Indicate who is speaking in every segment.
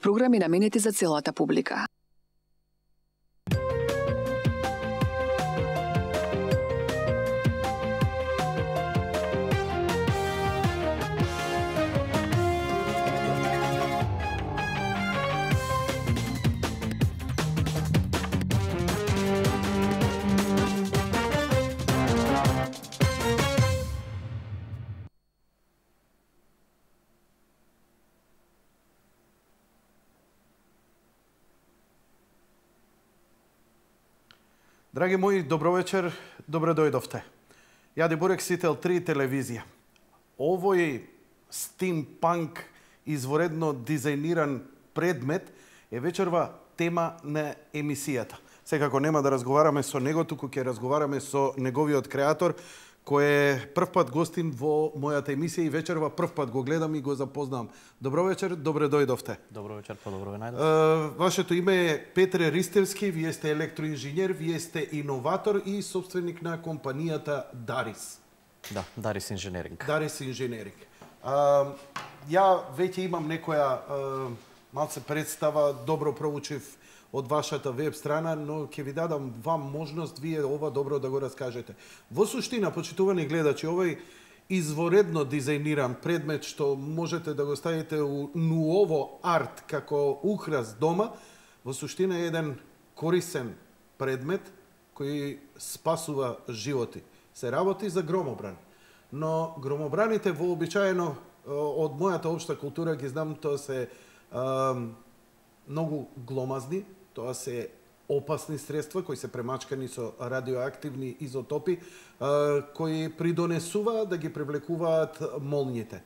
Speaker 1: Програми наменети за целата публика.
Speaker 2: Драги мои, добро вечер, добро дојдовте. Јади Бурек, Сител 3 телевизија. Овој стимпанк изворедно дизајниран предмет е вечерва тема на емисијата. Секако нема да разговараме со него, туку ќе разговараме со неговиот креатор, кој е првпат гостин во мојата емисија и вечерва првпат го гледам и го запознавам. Добро вечер, добре дојдовте.
Speaker 3: Добро вечер, по-добро ве најдов.
Speaker 2: Вашето име е Петре Ристевски, вие сте електроинженер, вие сте иноватор и собственик на компанијата Дарис.
Speaker 3: Да, Дарис Инженеринг.
Speaker 2: Дарис Инженеринг. Ја веќе имам некоја малце представа, добро проучив од вашата веб страна, но ќе ви дадам вам можност вие ова добро да го раскажете. Во суштина, почитувани гледачи, овој изворедно дизајниран предмет што можете да го ставите у нуово арт како украс дома, во суштина е еден корисен предмет кој спасува животи. Се работи за громобран. Но громобраните вообичаено од мојата општа култура ги знам, тоа се многу гломазни, тоа се опасни средства кои се премачкани со радиоактивни изотопи, кои придонесуваат да ги привлекуваат молњите.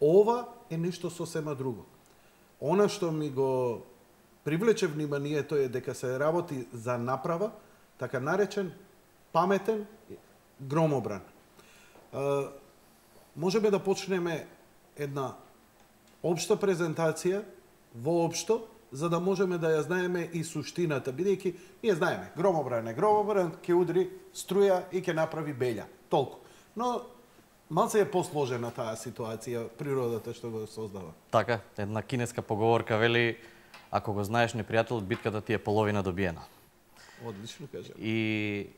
Speaker 2: Ова е нешто сосема друго. Она што ми го привлече вниманието е дека се работи за направа, така наречен паметен громобран. Можеме да почнеме една општа презентација, воопшто, за да можеме да ја знаеме и суштината, бидејќи ние знаеме, громобран, ќе удри струја и ќе направи белја. Толку. Но малце е посложена таа ситуација, природата што го создава.
Speaker 3: Така, една кинеска поговорка вели, ако го знаеш непријателот, битката ти е половина добиена.
Speaker 2: Одлично кажа.
Speaker 3: И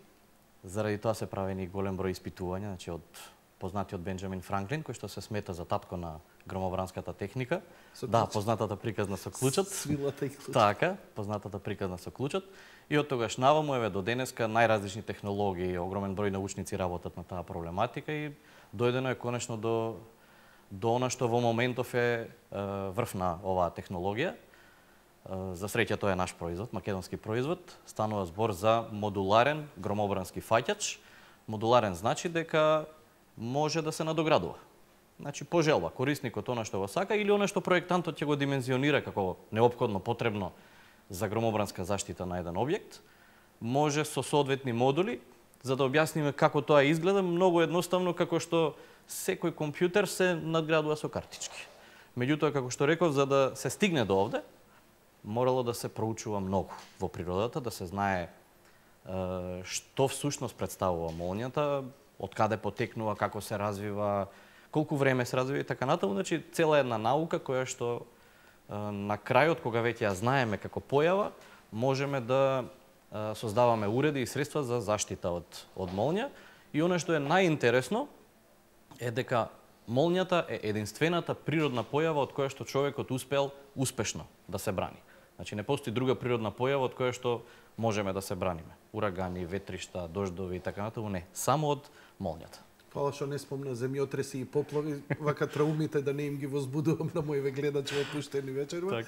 Speaker 3: заради тоа се правени голем број испитувања, значи од познатиот Бенџамин Франклин, кој што се смета за татко на громобранската техника. Да, познатата приказна со клучот.
Speaker 2: Свилата и клучот.
Speaker 3: Така, познатата приказна со клучот. И од тогаш наваму еве до денеска најразлични технологии, огромен број научници работат на таа проблематика и дојдено е конечно до она што во моментов е врв на оваа технологија. За среќа тоа е наш производ, македонски производ. Станува збор за модуларен громобрански фаќач. Модуларен значи дека може да се надоградува. Значи, по желба, корисникот она што го сака или она што проектантот ќе го димензионира како неопходно потребно за громобранска заштита на еден објект, може со соодветни модули, за да објасниме како тоа изгледа, многу едноставно како што секој компјутер се надградува со картички. Меѓутоа, како што реков, за да се стигне до овде, морало да се проучува многу во природата, да се знае што всушност представува молњата, од каде потекнува, како се развива, колку време се развива и така натаму, значи цела една наука која што на крајот, кога веќе ја знаеме како појава, можеме да создаваме уреди и средства за заштита од молња. И она што е најинтересно е дека молњата е единствената природна појава од која што човекот успел успешно да се брани. Значи не постои друга природна појава од која што можеме да се браниме. Урагани, ветришта, дождови и така натаму, не, само од молњата.
Speaker 2: Фала што не спомна земјотреси и поплави, вака траумите да не им ги возбудувам на моите гледачи во пуштени вечерва.
Speaker 3: Так.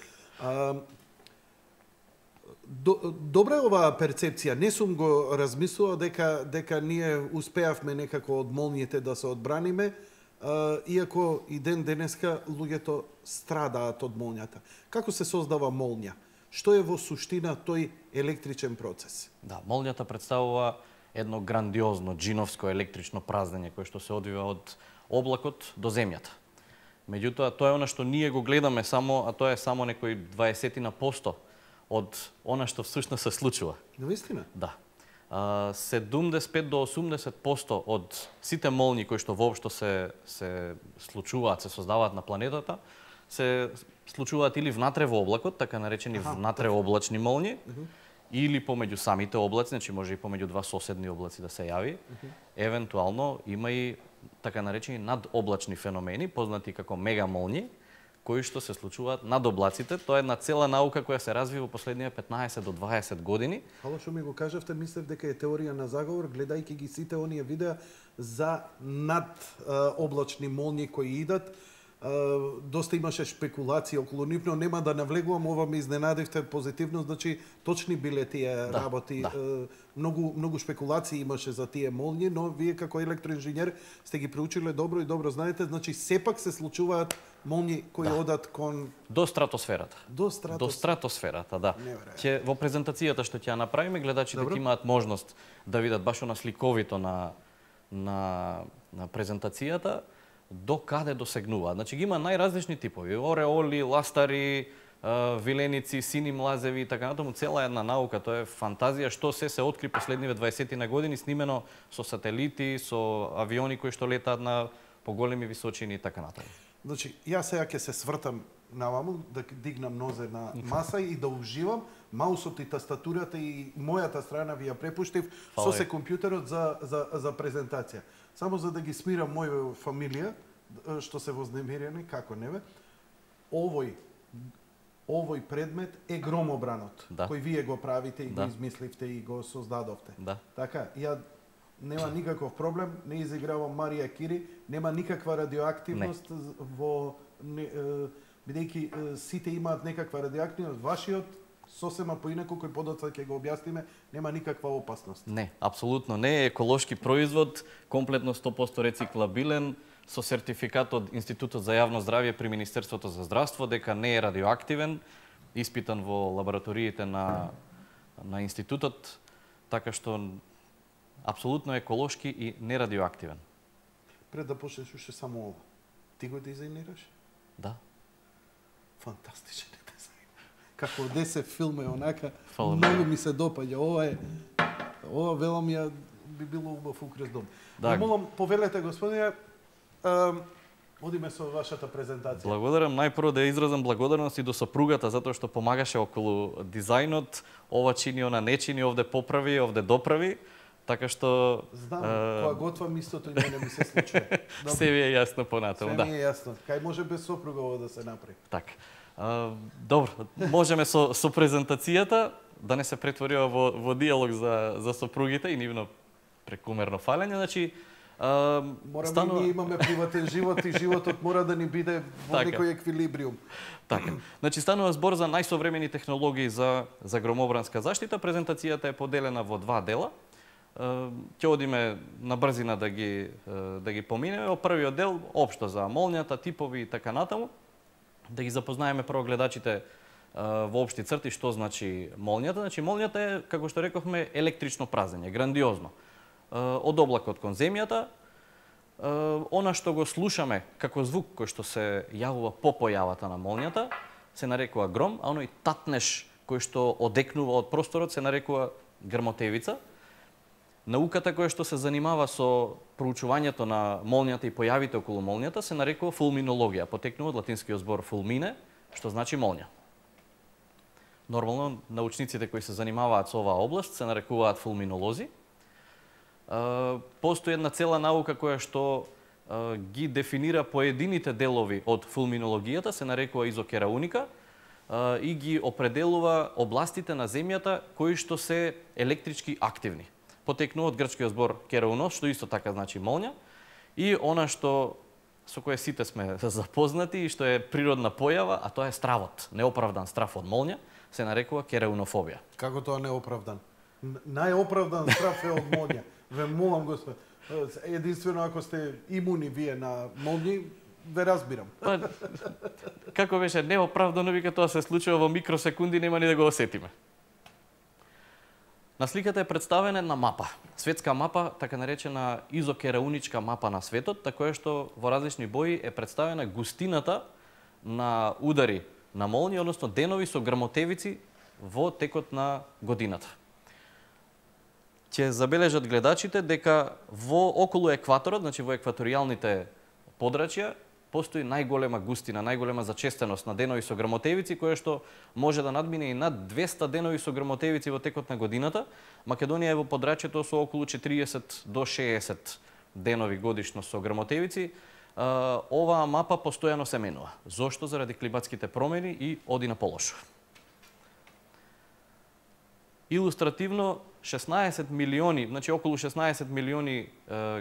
Speaker 2: Добра е оваа перцепција. Не сум го размислувал дека ние успеавме некако од молњите да се одбраниме, иако и ден денеска луѓето страдаат од молњата. Како се создава молња? Што е во суштина тој електричен процес?
Speaker 3: Да, молњата представува едно грандиозно джиновско електрично празнење кое што се одвива од облакот до земјата. Меѓутоа, тоа е она што ние го гледаме само, а тоа е само некои 20% од она што всушност се случува.
Speaker 2: Навистина?
Speaker 3: Да. 75 до 80% од сите молњи кои што воопшто се случуваат, се создаваат на планетата, се случуваат или внатре во облакот, така наречени внатре облачни молњи, или помеѓу самите облаци, значи може и помеѓу два соседни облаци да се јави. Евентуално има и така наречени надоблачни феномени, познати како мегамолњи, кои што се случуваат над облаците. Тоа е една цела наука која се развива во последниве 15 до 20 години.
Speaker 2: Ало што ми го кажавте, мислев дека е теорија на заговор, гледајќи ги сите оние видеа за надоблачни молњи кои идат. Доста имаше шпекулации околу нив, но нема да навлегувам, ова ме изненадивте позитивно, значи точни биле тие работи. Многу шпекулации имаше за тие молњи, но вие како електроинженер сте ги проучиле добро и добро знаете, значи сепак се случуваат молњи кои одат кон
Speaker 3: до стратосферата.
Speaker 2: До
Speaker 3: стратосферата, да. Ќе во презентацијата што ќе ја направиме, гледачите ќе имаат можност да видат баш на сликовито на презентацијата до каде досегнуваат. Значи ги има најразлични типови, ореоли, ластари, виленици, сини млазеви и така натаму, цела една наука, тоа е фантазија што се откри последниве 20 на години, снимено со сателити, со авиони кои што летаат на поголеми височини и така натаму.
Speaker 2: Значи, јас сега ќе се свртам наваму, да дигнам нозе на маса и да уживам. Маусот и тастатурата и мојата страна ви ја препуштив со се компјутерот за презентација. Само за да ги смирам моја фамилија, што се вознемирени, како не бе, овој предмет е громобранот, кој вие го правите и го измисливте и го создадовте. Така, ја нема никаков проблем, не изигравам Марија Кири, нема никаква радиоактивност во бидејќи сите имаат некаква радиоактивност, вашиот сосема поинаку кој подоцна ќе го објасниме, нема никаква опасност.
Speaker 3: Не, апсолутно не е еколошки производ, комплетно 100% рециклабилен, со сертификат од Институтот за јавно здравје при Министерството за здравство дека не е радиоактивен, испитан во лабораториите на институтот, така што апсолутно еколошки и нерадиоактивен.
Speaker 2: Пред да почнеш уште само ова, ти го дизајнираш?
Speaker 3: Да.
Speaker 2: Фантастичен е дизајн. Како десе филм е онака, многу ми се допаѓа. Ова велам ја би било убав украс дом. Да. Молам, повелете господине, одиме со вашата презентација.
Speaker 3: Благодарам, најпрво да изразам благодарност и до сопругата затоа што помагаше околу дизајнот, ова чини, она не чини, овде поправи, овде доправи. Така што
Speaker 2: знам, кога готвам истото и мене ми се случува.
Speaker 3: Се ви е јасно понатаму, да.
Speaker 2: Се ми е јасно. Кај може без сопруга ова да се направи?
Speaker 3: Така. Добро, можеме со презентацијата да не се претворива во диалог за сопругите и нивно прекумерно фалење, значи
Speaker 2: мораме ние имаме приватен живот и животот мора да ни биде во некој еквилибриум.
Speaker 3: Така. Значи станува збор за најсовремени технологии за громобранска заштита. Презентацијата е поделена во два дела. Ќе одиме на брзина да ги поминеме. Во првиот дел општо за молњата, типови и така натаму. Да ги запознаеме прво гледачите во општи црти што значи молњата. Значи молњата е, како што рековме, електрично празење, грандиозно. Од облакот кон земјата, она што го слушаме како звук кој што се јавува по појавата на молњата, се нарекува гром, а оној татнеш кој што одекнува од просторот се нарекува грмотевица. Науката која што се занимава со проучувањето на молњата и појавите околу молњата се нарекува фулминологија, потекнува од латинскиот збор fulmine, што значи молња. Нормално научниците кои се занимаваат со оваа област се нарекуваат фулминолози. Постои една цела наука која што ги дефинира поедините делови од фулминологијата, се нарекува изокерауника, и ги определува областите на земјата кои што се електрички активни. Потекнува од грчкиот збор кераунос, што исто така значи молња, и она што со кое сите сме запознати и што е природна појава, а тоа е стравот, неоправдан страв од молња, се нарекува кераунофобија.
Speaker 2: Како тоа неоправдан? Најоправдан страв е од молња. Ве молам, Господ, единствено ако сте имуни вие на молњи, ве разбирам.
Speaker 3: Како беше неоправдано, вика тоа се случува во микросекунди, нема ни да го осетиме. На сликата е представена една мапа, светска мапа, така наречена изокерауничка мапа на светот, така што во различни бои е представена густината на удари на молњи, односно денови со грмотевици во текот на годината. Ќе забележат гледачите дека во околу екваторот, значи во екваторијалните подрачја, постои најголема густина, најголема зачестеност на денови со грмотевици, која што може да надмине и над 200 денови со грмотевици во текот на годината. Македонија е во подрачјето со околу 40 до 60 денови годишно со грмотевици. Оваа мапа постојано се менува. Зошто? Заради климатските промени и оди на полошо. Илустративно, 16 милиони, значи околу 16 милиони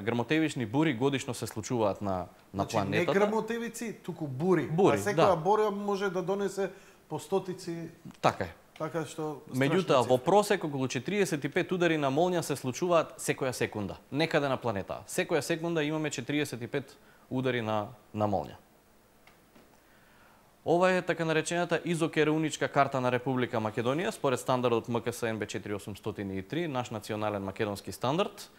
Speaker 3: грмотевични бури годишно се случуваат на планетата.
Speaker 2: Не грмотевици, туку бури.
Speaker 3: Бури,
Speaker 2: а секоја бура може да донесе по стотици.
Speaker 3: Така е.
Speaker 2: Така што
Speaker 3: Меѓутоа, во просек околу 45 удари на молња се случуваат секоја секунда, некаде на планетата. Секоја секунда имаме 45 удари на молња. Ова е така наречената изокерауничка карта на Република Македонија, според стандардот МКС НБ 4803, наш национален македонски стандард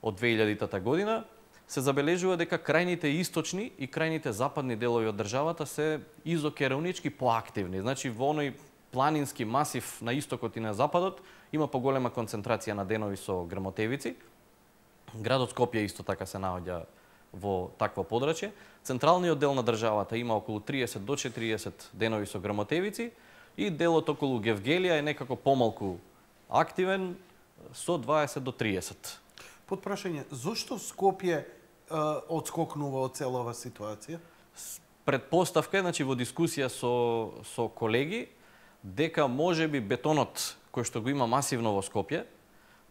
Speaker 3: од 2000 година. Се забележува дека крајните источни и крајните западни делови од државата се изокераунички поактивни. Значи, во оној планински масив на истокот и на западот има поголема концентрација на денови со грмотевици. Градот Скопје исто така се наоѓа во такво подрачје. Централниот дел на државата има околу 30 до 40 денови со грмотевици и делот околу Гевгелија е некако помалку активен со 20 до 30.
Speaker 2: Под прашање, зошто Скопје одскокнува од целава ситуација?
Speaker 3: Предпоставка е, значи во дискусија со колеги, дека можеби бетонот кој што го има масивно во Скопје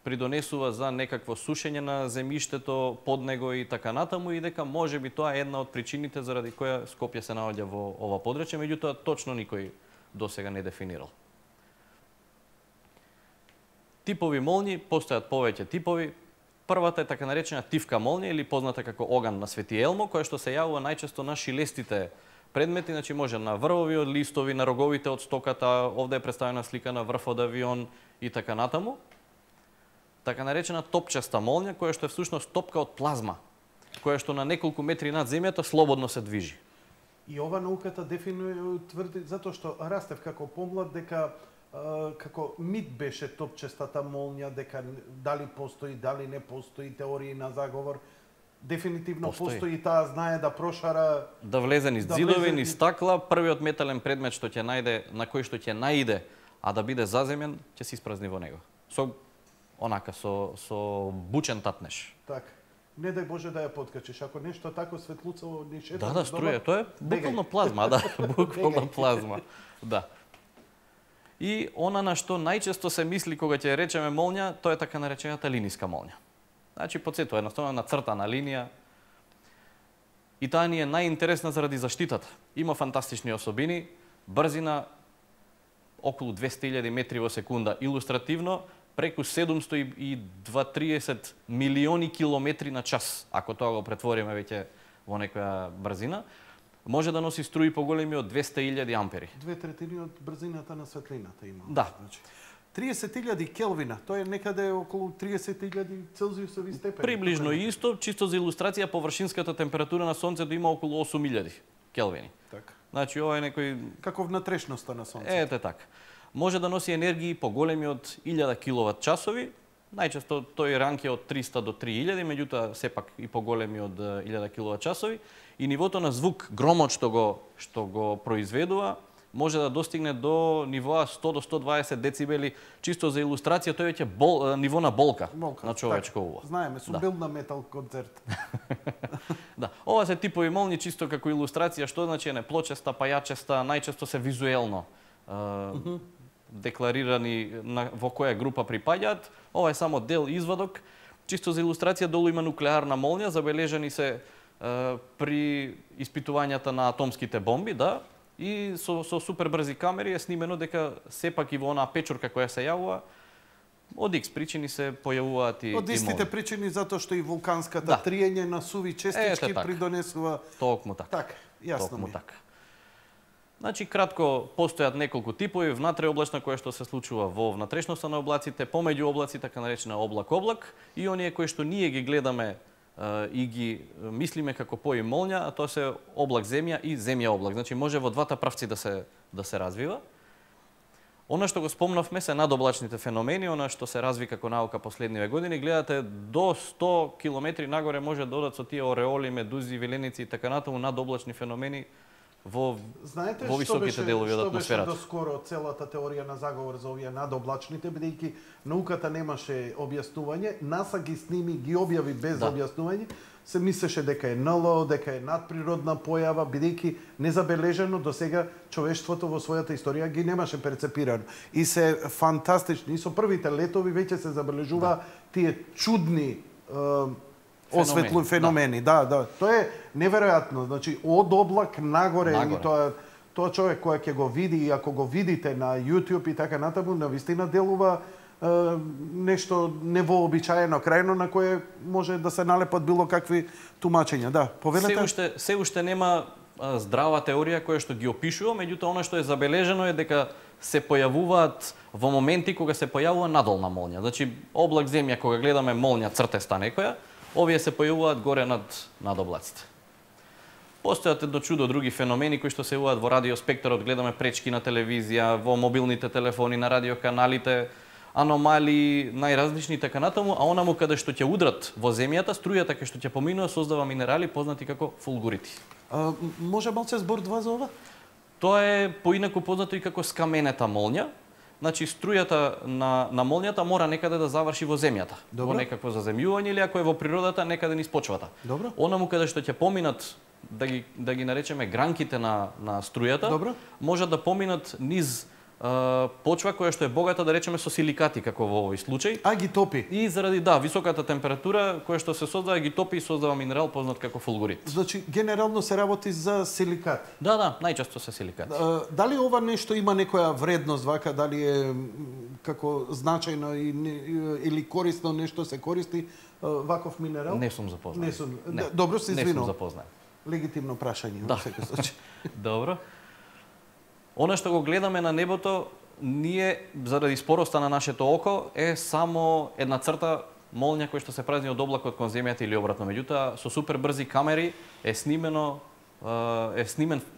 Speaker 3: придонесува за некакво сушење на земјиштето под него и така натаму, и дека можеби тоа е една од причините заради која Скопје се наоѓа во ова подрачје, меѓутоа точно никој досега не дефинирал. Типови молњи, постојат повеќе типови. Првата е така наречена тивка молња или позната како оган на Свети Елмо, која што се јавува најчесто на шилестите предмети, значи може на врвови од листови, на роговите од стоката, овде е представена слика на врв од авион и така натаму. Така наречена топчаста молња, која што е всушност топка од плазма, која што на неколку метри над земјата слободно се движи.
Speaker 2: И ова науката дефинуе, тврди, затоа што растев како помлад, дека како мит беше топчестата молња, дека дали постои, дали не постои, теории на заговор. Дефинитивно постои таа, знае да прошара,
Speaker 3: да влезе низ ѕидови, низ стакла, првиот метален предмет што ќе најде, на кој што ќе наиде, а да биде заземен, ќе се испразни во него. Со бучен татнеш.
Speaker 2: Така. Не дај Боже да ја подкачиш. Ако нешто тако светлуцово ни шета.
Speaker 3: Да, струја, тоа е буквално плазма, да, буквално плазма. Да. И она на што најчесто се мисли кога ќе речеме молња, тоа е така наречената линиска молња. Значи, подсетува, едноставно на цртана линија. И таа ни е најинтересна заради заштитата. Има фантастични особини, брзина околу 200.000 метри во секунда, илустративно преку 730 милиони километри на час, ако тоа го претвориме веќе во некоја брзина, може да носи струи поголеми од 200.000 ампери.
Speaker 2: 2/3 од брзината на светлината има.
Speaker 3: Да.
Speaker 2: Значи, 30.000 келвина, тоа е некаде околу 30.000 целзиусови степени.
Speaker 3: Приближно исто, чисто за илустрација, површинската температура на Сонцето има околу 8.000 келвини.
Speaker 2: Така.
Speaker 3: Значи, ова е некој...
Speaker 2: Како внатрешноста на Сонцето.
Speaker 3: Ете така. Може да носи енергии поголеми од 1000 киловат часови, најчесто тој ранг е од 300 до 3000, меѓутоа сепак и поголеми од 1000 киловат часови, и нивото на звук, громот што го произведува, може да достигне до нивоа 100 до 120 децибели, чисто за илустрација, тој веќе ниво на болка на човечко уво.
Speaker 2: Знаеме, сум бил на метал концерт.
Speaker 3: Да, ова се типови молњи чисто како илустрација, што значи не плочеста, пајачеста, најчесто се визуелно декларирани во која група припаѓаат. Ова е само дел извадок. Чисто за илустрација, долу има нуклеарна молња, забележани се при испитувањата на атомските бомби, да, и со супер брзи камери е снимено дека сепак и во онаа печурка која се јавува, од X причини се појавуваат и
Speaker 2: од истите причини, затоа што и вулканската триење на суви честички придонесува...
Speaker 3: Токму така.
Speaker 2: Така, јасно ми.
Speaker 3: Така. Значи, кратко, постојат неколку типови, внатреоблачна која што се случува во внатрешноста на облаците, помеѓу облаци, така наречена облак-облак, и оние кои што ние ги гледаме и ги мислиме како пои молња, а тоа се облак земја и земја облак. Значи може во двата правци да се развива. Она што го спомнавме се надоблачните феномени, она што се разви како наука последниве години, гледате до 100 километри нагоре може да одат со тие ореоли, медузи, виленици и така натаму надоблачни феномени во високите делови од атмосферата.
Speaker 2: Што беше доскоро целата теорија на заговор за овие надоблачните, бидејќи науката немаше објаснување, НАСА ги сними, ги објави без објаснување, се мислеше дека е НЛО, дека е надприродна појава, бидејќи незабележено до сега човештвото во својата историја ги немаше перцепирано. И се фантастични, и со првите летови веќе се забележува тие чудни феномени. Да. Тоа е неверојатно. Значи, од облак нагоре. И тоа човек кој ќе го види, и ако го видите на YouTube и така натаму, навистина делува нешто невообичаено крајно на кое може да се налепат било какви тумачења. Да, повелете.
Speaker 3: Се уште нема здрава теорија која што ги опишува, меѓутоа она што е забележено е дека се појавуваат во моменти кога се појавува надолна молња. Значи, облак земја кога гледаме молња цртеста некоја, овие се појавуваат горе над облаците. Постојат едно чудо други феномени кои што се јавуваат во радиоспектарот, гледаме пречки на телевизија, во мобилните телефони, на радиоканалите, аномалии, најразлични и така натаму, а онаму каде што ќе удрат во земјата, струјата кај што ќе поминува создава минерали познати како фулгурити.
Speaker 2: Може малце збор два за ова?
Speaker 3: Тоа е поинаку познато и како скаменета молња. Значи, струјата на молњата мора некаде да заврши во земјата. Во некакво заземјување или ако е во природата, некаде низ почвата. Онаму каде што ќе поминат, да ги наречеме гранките на струјата, може да поминат низ почва која што е богата, да речеме, со силикати, како во овој случај.
Speaker 2: Ги топи.
Speaker 3: И заради, високата температура која што се создава, ги топи и создава минерал познат како фулгурит.
Speaker 2: Значи, генерално се работи за силикати?
Speaker 3: Да, најчесто се силикати.
Speaker 2: Дали ова нешто има некоја вредност, вака, дали е како значајно или корисно нешто се користи ваков минерал?
Speaker 3: Не сум запознат.
Speaker 2: Добро, се извинувам.
Speaker 3: Не сум запознат.
Speaker 2: Легитимно прашање, во секој случај.
Speaker 3: Добро. Она што го гледаме на небото, ние, заради спороста на нашето око, е само една црта молња која што се празни од облакот кон земјата или обратно. Меѓутоа, со супер брзи камери е снимен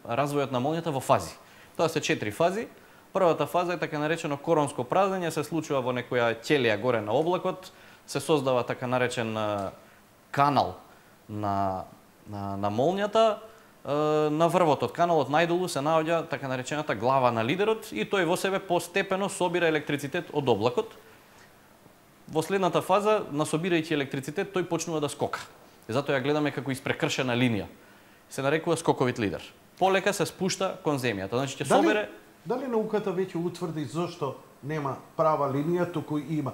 Speaker 3: развојот на молњата во фази. Тоа се 4 фази. Првата фаза е така наречено коронско празнење, се случува во некоја ќелија горе на облакот, се создава така наречен канал на молњата. На врвот од каналот најдолу се наоѓа така наречената глава на лидерот и тој во себе постепено собира електрицитет од облакот. Во следната фаза, насобирајќи електрицитет, тој почнува да скока. И затоа ја гледаме како испрекршена линија. Се нарекува скоковит лидер. Полека се спушта кон земјата. Значи ќе собере.
Speaker 2: Дали науката веќе утврди зошто нема права линија, туку има?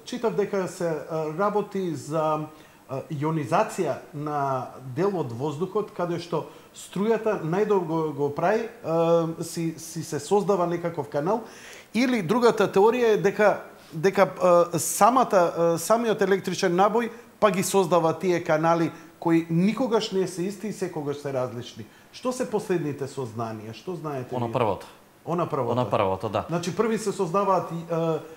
Speaker 2: Читав дека се работи за ионизација на дел од воздухот, каде што струјата најдолго го прави, си се создава некаков канал, или другата теорија е дека самиот електричен набој па ги создава тие канали кои никогаш не се исти и секогаш се различни. Што се последните сознанија? Што знаете?
Speaker 3: Она првото, да.
Speaker 2: Значи први се создаваат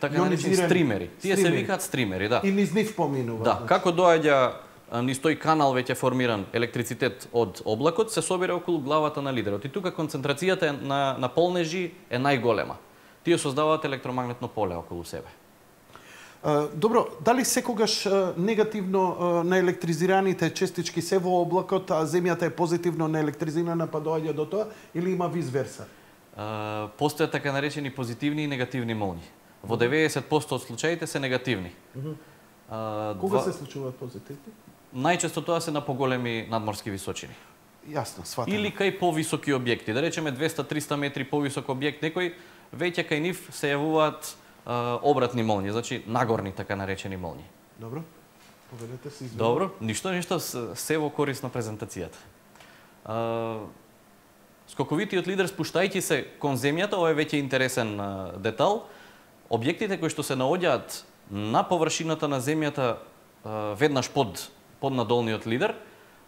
Speaker 3: ионизирани стримери. Тие се викаат стримери, да.
Speaker 2: И низ нив поминува.
Speaker 3: Да, како доаѓа низ тој канал веќе формиран електрицитет од облакот, се собира околу главата на лидерот. И тука концентрацијата на полнежи е најголема. Тие создаваат електромагнетно поле околу себе.
Speaker 2: Добро, дали секогаш негативно наелектризираните честички се во облакот, а земјата е позитивно наелектризирана па доаѓа до тоа, или има виз верса?
Speaker 3: Постојат така наречени позитивни и негативни молњи. Во 90% од случаите се негативни.
Speaker 2: Кога се случуваат позитивни?
Speaker 3: Најчесто тоа се на поголеми надморски височини.
Speaker 2: Јасно, сватено.
Speaker 3: Или кај повисоки објекти. Да речеме 200-300 метри повисок објект некој, веќе кај нив се јавуваат обратни молњи, значи нагорни така наречени молњи.
Speaker 2: Добро. Поведете се извинувам.
Speaker 3: Добро, ништо се во корис на презентацијата. Скоковитиот лидер, спуштајќи се кон земјата, ова е веќе интересен детал, објектите кои што се наоѓаат на површината на земјата веднаш под надолниот лидер,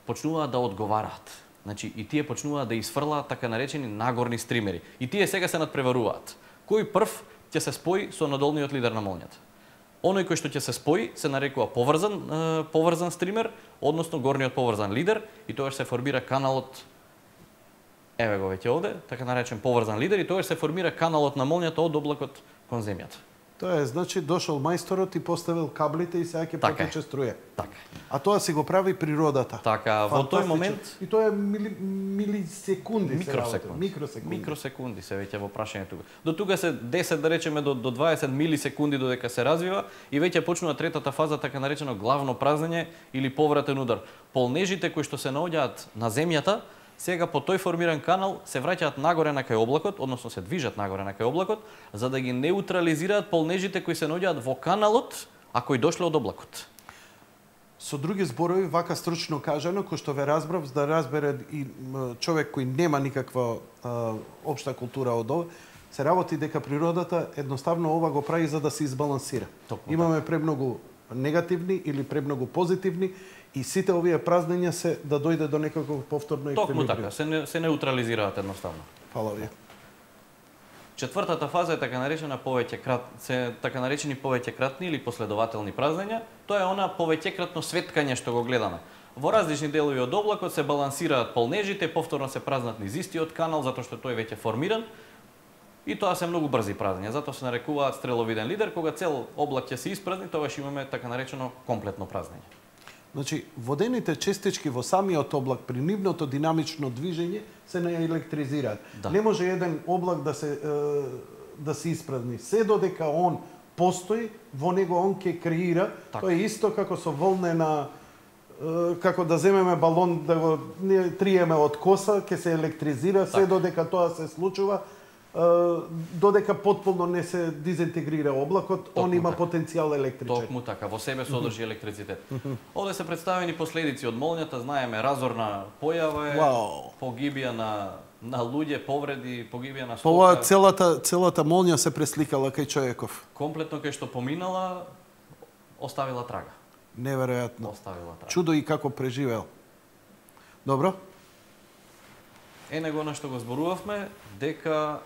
Speaker 3: почнуваат да одговараат. Значи, и тие почнуваат да изфрлаат така наречени нагорни стримери. И тие сега се надпреваруваат. Кој прв ќе се спои со надолниот лидер на молњата? Оној кој што ќе се спои се нарекува поврзан стример, односно горниот поврзан лидер, и тоа се формира каналот Еве го веќе овде, така наречен поврзан лидер, и тогаш се формира каналот на молњата од облакот кон земјата.
Speaker 2: Тоа е, значи, дошол мајсторот и поставил каблите и сега ќе потече струја.
Speaker 3: Така.
Speaker 2: А тоа си го прави природата.
Speaker 3: Така, во тој момент...
Speaker 2: И тоа е милисекунди
Speaker 3: Микросекунди се веќе во прашањето. До тука се 10, да речеме, до 20 милисекунди додека се развива и веќе почнува третата фаза, така наречено главно празнење или повратен удар. Полнежите кои што се наоѓаат на земјата, сега по тој формиран канал се враќаат нагоре на кај облакот, односно се движат нагоре на кај облакот, за да ги неутрализираат полнежите кои се наоѓаат во каналот, а кои дошле од облакот.
Speaker 2: Со други зборови, вака стручно кажано, кој што ве разбрав, за да разбере и човек кој нема никаква општа култура од ова, се работи дека природата едноставно ова го прави за да се избалансира. Имаме премногу негативни или премногу позитивни, и сите овие празнења се да дојде до некако повторно еквилибриум.
Speaker 3: Токму така, се неутрализираат едноставно.
Speaker 2: Фала ви.
Speaker 3: Четвртата фаза е така наречени повеќекратни или последователни празнења. Тоа е она повеќекратно светкање што го гледаме. Во различни делови од облакот се балансираат полнежите, повторно се празнат низ истиот канал затоа што тој веќе формиран. И тоа се многу брзи празнења, затоа се нарекуваат стреловиден лидер, кога цел облак ќе се испразни, тогаш имаме така наречено комплетно празнење.
Speaker 2: Значи, водените честички во самиот облак при нивното динамично движење се не електризираат.
Speaker 3: Да.
Speaker 2: Не може еден облак да се испразни. Се додека он постои, во него он ќе креира.
Speaker 3: Так.
Speaker 2: Тоа е исто како со волнена, како да земеме балон, да го триеме од коса, ќе се електризира, се додека тоа се случува, додека потполно не се дезинтегрира облакот, он има потенцијал електричен.
Speaker 3: Токму така, во себе содржи електрицитет. Овде се представени последици од молњата, знаеме разорна појава е, погибија на луѓе, повреди, погибија на стока.
Speaker 2: Ова целата молња се пресликала кај човеков.
Speaker 3: Комплетно кај што поминала, оставила трага.
Speaker 2: Неверојатно.
Speaker 3: Оставила трага.
Speaker 2: Чудо и како преживел. Добро?
Speaker 3: Него на што го зборувавме, дека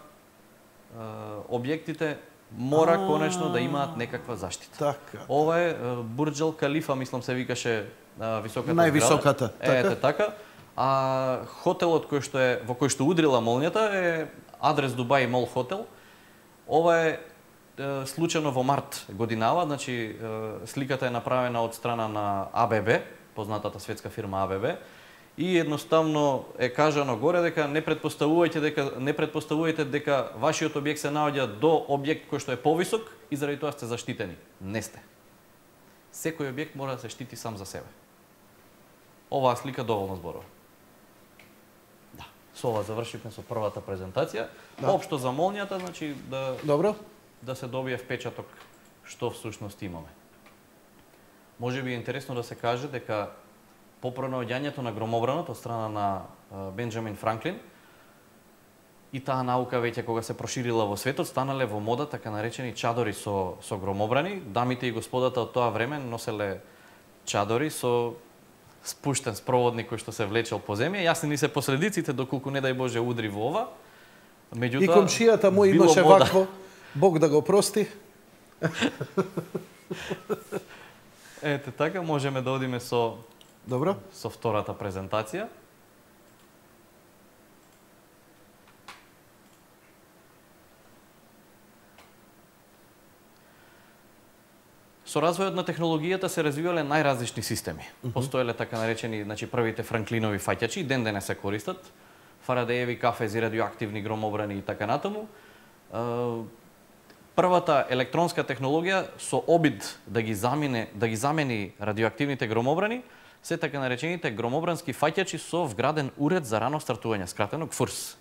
Speaker 3: објектите мора конечно да имаат некаква заштита.
Speaker 2: Така.
Speaker 3: Ова е Бурџ Ал Калифа, мислам се викаше високата
Speaker 2: највисоката.
Speaker 3: Така? Ете така. А хотелот во кој што удрила молњата е Адрес Дубај Мол хотел. Ова е случајно во март годинава, значи сликата е направена од страна на АББ, познатата светска фирма АББ. И едноставно е кажано горе дека не претпоставувајте дека вашиот објект се наоѓа до објект кој што е повисок и заради тоа сте заштитени. Не сте. Секој објект мора да се штити сам за себе. Оваа слика доволно зборува. Да. Со ова завршивме со првата презентација. Да. Општо за молњата, значи
Speaker 2: Добро.
Speaker 3: Да се добие впечаток што всушност имаме. Може би е интересно да се каже дека по пронаоѓањето на громобранот од страна на Бенџамин Франклин и таа наука веќе кога се проширила во светот, станале во мода така наречени чадори со громобрани. Дамите и господата од тоа време носеле чадори со спуштен спроводник кој што се влечел по земја. Јасни ни се последиците доколку не дај Боже удри во ова. Меѓутоа,
Speaker 2: и комшијата му имаше вакво, Бог да го прости.
Speaker 3: Ете така, можеме да одиме со
Speaker 2: Добро.
Speaker 3: Со втората презентација. Со развојот на технологијата се развивале најразлични системи. Постоеле така наречени, значи првите Франклинови фаќачи, ден денес се користат, Фарадееви кафези, радиоактивни громобрани и така натаму. Првата електронска технологија со обид да ги замени радиоактивните громобрани се така наречените громобрански фаќачи со вграден уред за рано стартување, скратено ГФУРС.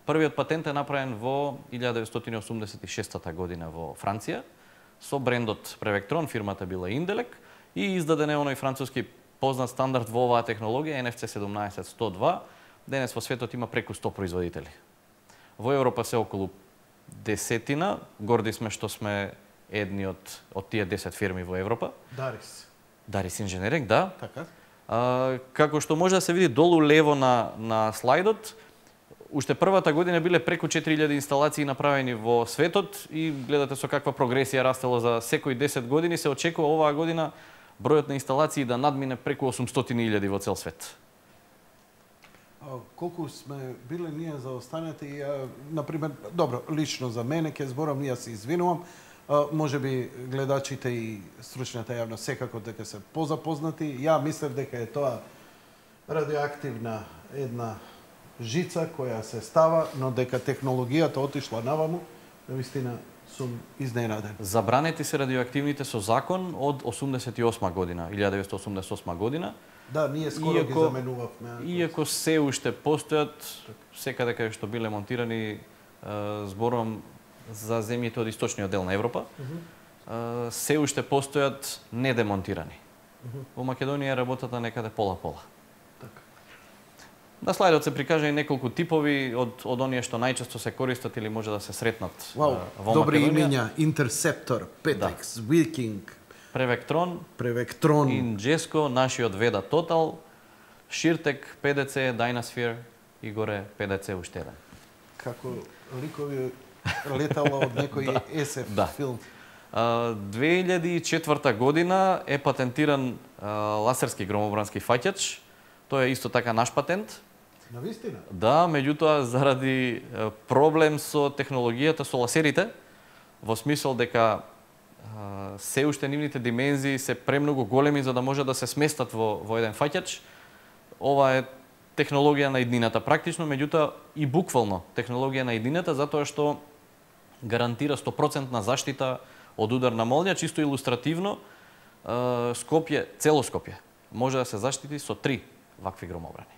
Speaker 3: Првиот патент е направен во 1986 година во Франција со брендот Превектрон, фирмата била Инделек, и издаден е оној француски познат стандард во оваа технологија NFC 17102. Денес во светот има преку 100 производители. Во Европа се околу 10, горди сме што сме едни од тие 10 фирми во Европа. Дарис Инженеринг, да.
Speaker 2: Така.
Speaker 3: Како што може да се види долу лево на слайдот, уште првата година биле преку 4000 инсталации направени во светот и гледате со каква прогресија растело за секои 10 години. Се очекува оваа година бројот на инсталации да надмине преку 800.000 во цел свет.
Speaker 2: колку сме биле ние заостанати, например, добро, лично за мене, ке зборам, ја се извинувам, може би гледачите и стручната јавност секако дека се позапознати. Ја мислев дека е тоа радиоактивна една жица која се става, но дека технологијата отишла наваму, навистина сум изненаден.
Speaker 3: Забранети се радиоактивните со закон од 88 година, 1988 година.
Speaker 2: Да, ние скоро ги заменувавме.
Speaker 3: Иако се уште постојат, секаде каде што биле монтирани, зборувам за земјите од источниот дел на Европа, се уште постојат недемонтирани. Во Македонија работата некаде пола-пола. На слайдот се прикажа и неколку типови од оние што најчесто се користат или може да се сретнат во Македонија.
Speaker 2: Добри имиња, Интерсептор, Петекс, Викинг, Превектрон,
Speaker 3: Инџеско, нашиот Веда Тотал, Ширтек, ПДЦ, Дайнасфер и горе ПДЦ уште еден.
Speaker 2: Како ликови летала од некој SF филм.
Speaker 3: 2004 година е патентиран лазерски громобрански фаќач. Тој е исто така наш патент.
Speaker 2: Навистина?
Speaker 3: Да, меѓутоа заради проблем со технологијата со ласерите, во смисол дека се уште нивните димензии се премногу големи за да може да се сместат во еден фаќач. Ова е технологија на иднината практично, меѓутоа и буквално технологија на иднината, затоа што гарантира 100% заштита од удар на молња, чисто илустративно. Скопје, цело Скопје може да се заштити со 3 вакви громобрани.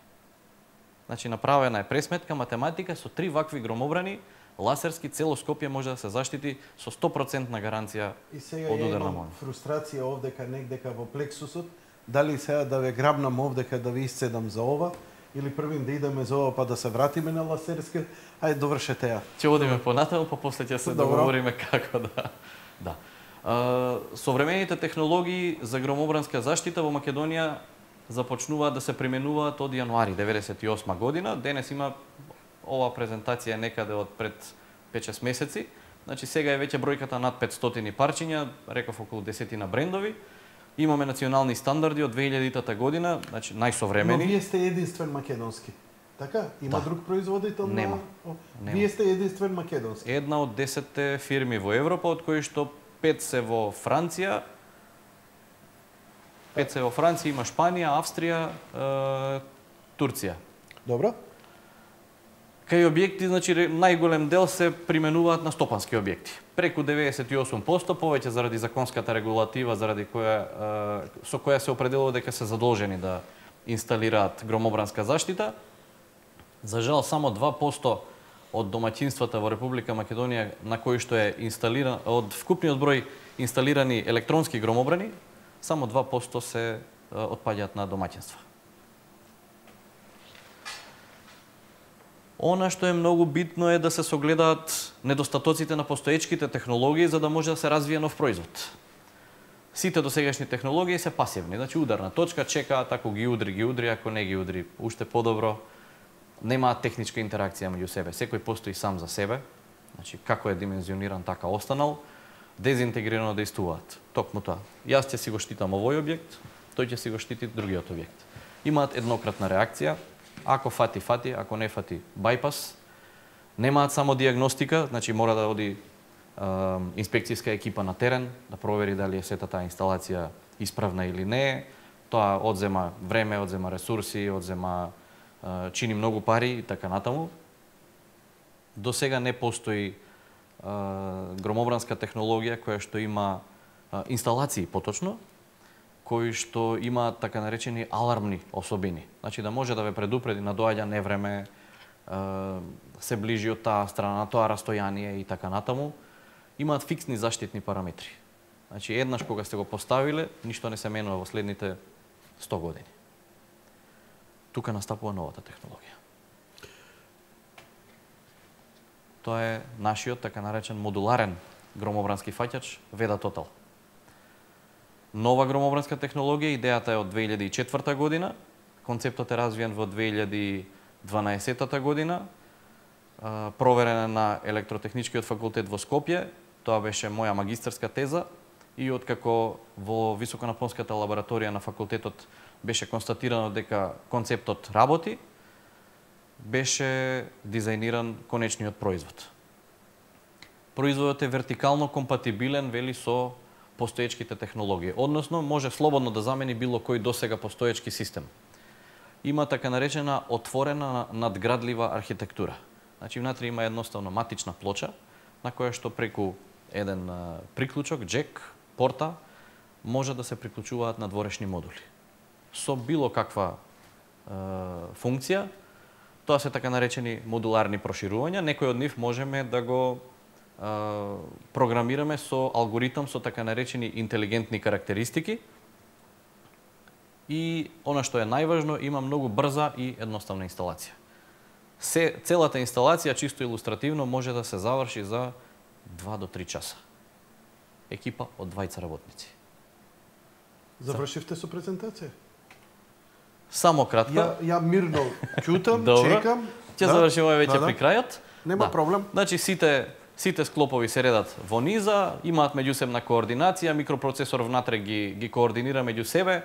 Speaker 3: Значи направена е пресметка математика со 3 вакви громобрани, ласерски цело Скопје може да се заштити со 100% гаранција од удар на молња.
Speaker 2: Фрустрација овдека негдека во плексусот, дали сега да ве грабнам овдека да ви исцедам за ова, или првин да идеме за ова па да се вратиме на ласерски, ајде довршете ја.
Speaker 3: Ќе одиме понатаму, па после ќе се договориме како да. Современите технологии за громобранска заштита во Македонија започнуваат да се применуваат од јануари 1998 година. Денес има ова презентација некаде од пред 5-6 месеци. Значи сега е веќе бројката над 500 парчиња, реков околу 10 брендови. Имаме национални стандарди од 2000-та година, значи најсовремени.
Speaker 2: Но вие сте единствен македонски. Така? Има друг производител?
Speaker 3: Нема.
Speaker 2: Вие сте единствен македонски.
Speaker 3: Една од 10 фирми во Европа, од кои што 5 се во Франција. 5 се во Франција, има Шпанија, Австрија, Турција.
Speaker 2: Добро.
Speaker 3: Кај објекти, значи најголем дел се применуваат на стопански објекти. Преку 98%, повеќе заради законската регулатива, заради со која се определува дека се задолжени да инсталираат громобранска заштита. За жал, само 2% од домаќинствата во Република Македонија на кои што е инсталиран, од вкупниот број инсталирани електронски громобрани, само 2% се отпаѓаат на домаќинства. Она што е многу битно е да се согледаат недостатоците на постоечките технологии за да може да се развие нов производ. Сите досегашни технологии се пасивни, значи ударна точка, чекаат, ако ги удри, ако не ги удри, уште подобро. Немаат техничка интеракција меѓу себе, секој постои сам за себе, значи како е димензиониран така останал, дезинтегрирано действуваат. Токму тоа. Јас ќе си го штитам овој објект, тој ќе си го штити другиот објект. Имаат еднократна реакција, ако фати, ако не фати, байпас. Немаат само диагностика, значи мора да оди инспекцијска екипа на терен, да провери дали е сета таа инсталација исправна или не. Тоа одзема време, одзема ресурси, чини многу пари и така натаму. До сега не постои громобранска технологија која што има инсталации поточно, кои што имаат така наречени алармни особини. Значи да може да ве предупреди на доаѓа невреме, се ближи од таа страна, на тоа растојание и така натаму. Имаат фиксни заштитни параметри. Значи еднаш кога сте го поставиле, ништо не се менува во следните 100 години. Тука настапува новата технологија. Тоа е нашиот така наречен модуларен громобрански фаќач Веда Тотал. Нова громобранска технологија, идејата е од 2004 година, концептот е развиен во 2012 година, проверена на Електротехничкиот факултет во Скопје, тоа беше моја магистерска теза, и откако во високонапонската лабораторија на факултетот беше констатирано дека концептот работи, беше дизајниран конечниот производ. Производот е вертикално компатибилен, вели, со постоечките технологии. Односно, може слободно да замени било кој досега постоечки систем. Има така наречена отворена надградлива архитектура. Значи, внатре има едноставно матична плоча, на која што преку еден приклучок, джек, порта, може да се приклучуваат надворешни модули. Со било каква функција, тоа се така наречени модуларни проширувања, некој од нив можеме да го програмираме со алгоритам со така наречени интелигентни карактеристики и она што е најважно, има многу брза и едноставна инсталација. Целата инсталација, чисто илустративно, може да се заврши за 2 до 3 часа. Екипа од 20 работници.
Speaker 2: Завршивте со презентација?
Speaker 3: Само кратка.
Speaker 2: Ја мирно ќутам, чекам.
Speaker 3: Ќе завршиме веќе при крајот.
Speaker 2: Нема проблем.
Speaker 3: Значи, сите склопови се редат во низа, имаат меѓусебна координација, микропроцесор внатре ги координира меѓу себе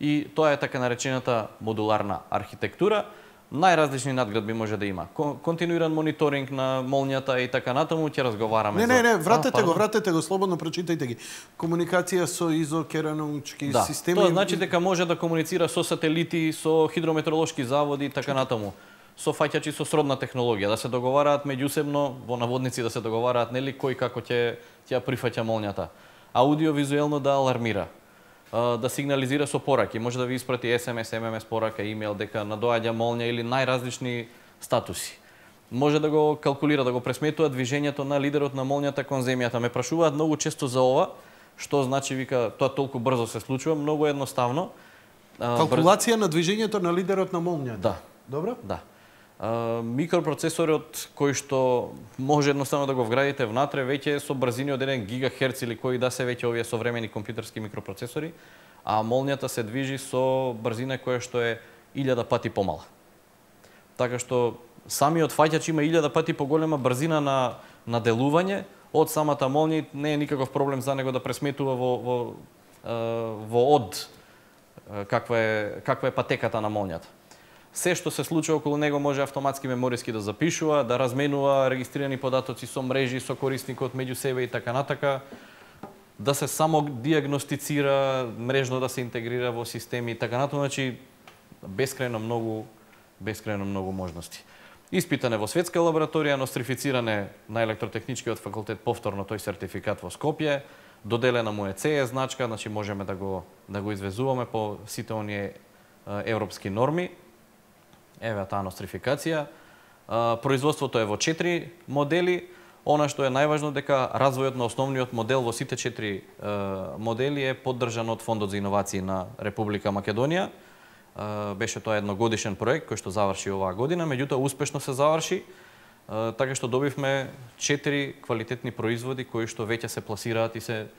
Speaker 3: и тоа е така наречената модуларна архитектура. Најразлични надградби може да има. Континуиран мониторинг на молњата и така натаму, ќе разговараме за...
Speaker 2: Не, вратете го, слободно прочитајте ги. Комуникација со изокеранучки системи...
Speaker 3: Тоа значи дека може да комуницира со сателити, со хидрометеоролошки заводи и така натаму. Со фаќачи со сродна технологија, да се договараат меѓусебно, во наводници да се договараат, нели, кој како ќе ја прифаќа молњата. Аудиовизуелно да алармира, да сигнализира со пораки, може да ви испрати SMS, MMS порака, имејл дека надоаѓа молња или најразлични статуси. Може да го калкулира, да го пресметува движењето на лидерот на молњата кон земјата. Ме прашуваат многу често за ова, што значи, вика, тоа толку брзо се случува, многу едноставно.
Speaker 2: Калкулација на движењето на лидерот на молњата.
Speaker 3: Да.
Speaker 2: Добро?
Speaker 3: Да. Микропроцесорот кој што може едноставно да го вградите внатре, веќе со брзини од 1 гигахерц или кои да се веќе овие современи компјутерски микропроцесори, а молњата се движи со брзина која што е 1000 пати помала. Така што самиот фаќач има 1000 пати поголема брзина на делување од самата молња, не е никаков проблем за него да пресметува во каква е патеката на молњата. Се што се случува околу него може автоматски мемориски да запишува, да разменува регистрирани податоци со мрежи, со корисникот меѓу себе и така натака, да се само диагностицира, мрежно да се интегрира во системи и така натаму, значи бескрајно многу можности. Испитане во светска лабораторија, нострифициране на електротехничкиот факултет повторно тој сертификат во Скопје, доделена му е CE значка, значи можеме да го извезуваме по сите оние европски норми. Еве таа нострификација. Производството е во 4 модели. Она што е најважно дека развојот на основниот модел во сите 4 модели е поддржан од Фондот за иновации на Република Македонија. Беше тоа едногодишен проект кој што заврши оваа година, меѓутоа успешно се заврши, така што добивме 4 квалитетни производи кои што веќе се пласираат и се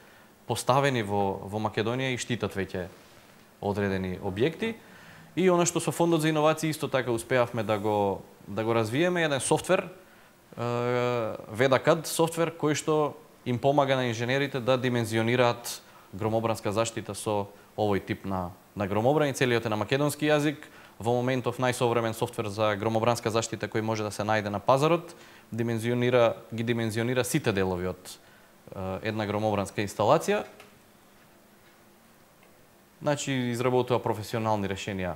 Speaker 3: поставени во Македонија и штитат веќе одредени објекти. И она што со Фондот за иновации исто така успеавме да го развиеме, еден софтвер, VEDA-CAD софтвер, кој што им помага на инженерите да димензионираат громобранска заштита со овој тип на громобран и целиот е на македонски јазик. Во моментов најсовремен софтвер за громобранска заштита кој може да се најде на пазарот, ги димензионира сите делови од една громобранска инсталација. Значи, изработува професионални решенија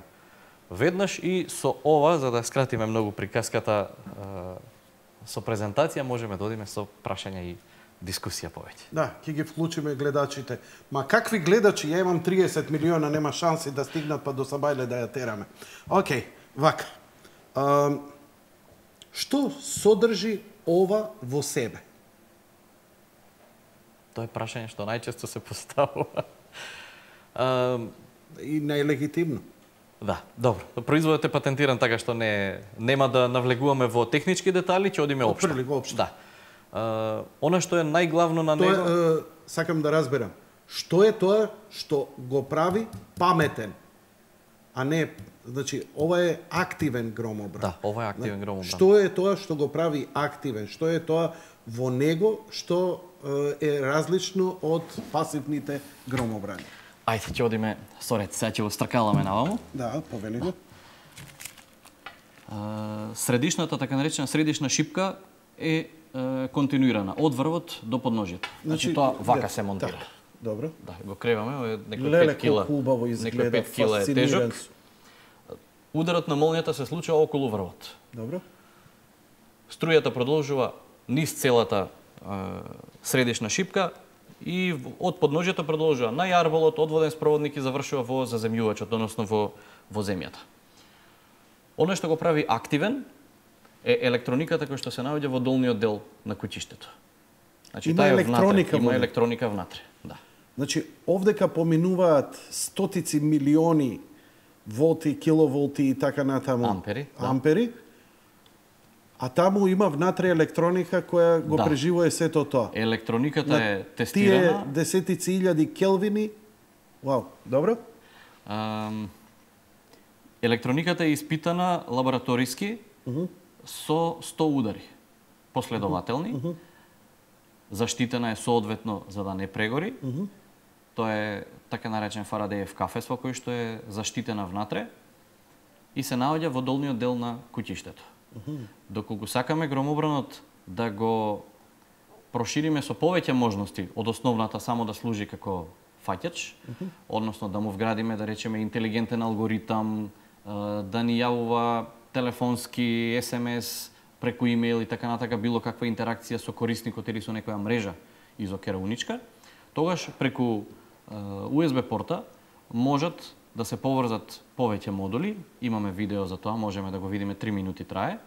Speaker 3: веднаш и со ова, за да скратиме многу приказката со презентација, можеме да одиме со прашања и дискусија повеќе.
Speaker 2: Да, ќе ги вклучиме гледачите. Ма какви гледачи? Ја имам 30 милиона, нема шанси да стигнат па до Сабајле да ја тераме. Океј, вака. Што содржи ова во себе?
Speaker 3: Тоа е прашање што најчесто се поставува.
Speaker 2: И најлегитимно.
Speaker 3: Да, добро. Производот е патентиран, така што нема да навлегуваме во технички детали, ќе одиме општо.
Speaker 2: Општо.
Speaker 3: Да. Она што е најглавно на него...
Speaker 2: Сакам да разберам. Што е тоа што го прави паметен? А не, значи, ова е активен громобран.
Speaker 3: Да, ова е активен громобран.
Speaker 2: Што е тоа што го прави активен? Што е тоа во него што е различно од пасивните громобрани?
Speaker 3: Ајде, ќе одиме со ред, сега ќе го стракаламе наваму.
Speaker 2: Да, повели го.
Speaker 3: Средишната, така наречена средишна шипка е континуирана од врвот до подножјето. Значи тоа вака се монтира.
Speaker 2: Так, добро.
Speaker 3: Да, го креваме, некој 5
Speaker 2: Леле,
Speaker 3: кила.
Speaker 2: колку убаво изгледа,
Speaker 3: Некој 5 кила е
Speaker 2: фасциниран.
Speaker 3: тежок. Ударот на молнијата се случува околу врвот.
Speaker 2: Добро.
Speaker 3: Струјата продолжува низ целата средишна шипка и од подножјето продолжува на јарболот, од воден спроводник и завршува во заземјувачот, односно во земјата. Оно што го прави активен е електрониката која што се наоѓа во долниот дел на куќиштето. Значи,
Speaker 2: Има
Speaker 3: таа е
Speaker 2: електроника
Speaker 3: внатре, има
Speaker 2: во него.
Speaker 3: електроника внатре. Да.
Speaker 2: Значи, овдека поминуваат стотици милиони волти, киловолти и така натаму.
Speaker 3: Ампери, да.
Speaker 2: Ампери. А таму има внатре електроника која го
Speaker 3: Да.
Speaker 2: преживува сето тоа.
Speaker 3: Електрониката е
Speaker 2: Тие
Speaker 3: тестирана.
Speaker 2: десетици илјади келвини. Вау, добро?
Speaker 3: Електрониката е испитана лабораториски со 100 удари последователни. Заштитена е соодветно за да не прегори. Тоа е така наречен Фарадеев кафес во кој што е заштитена внатре и се наоѓа во долниот дел на куќиштето. Доколку сакаме громобранот да го прошириме со повеќе можности од основната само да служи како фаќач, односно да му вградиме, да речеме, интелигентен алгоритам, да ни јавува телефонски, SMS, преку имейл и така натака, било каква интеракција со корисникот или со некоја мрежа изокерауничка, тогаш преку USB порта можат да се поврзат повеќе модули. Имаме видео за тоа, можеме да го видиме, 3 минути трае.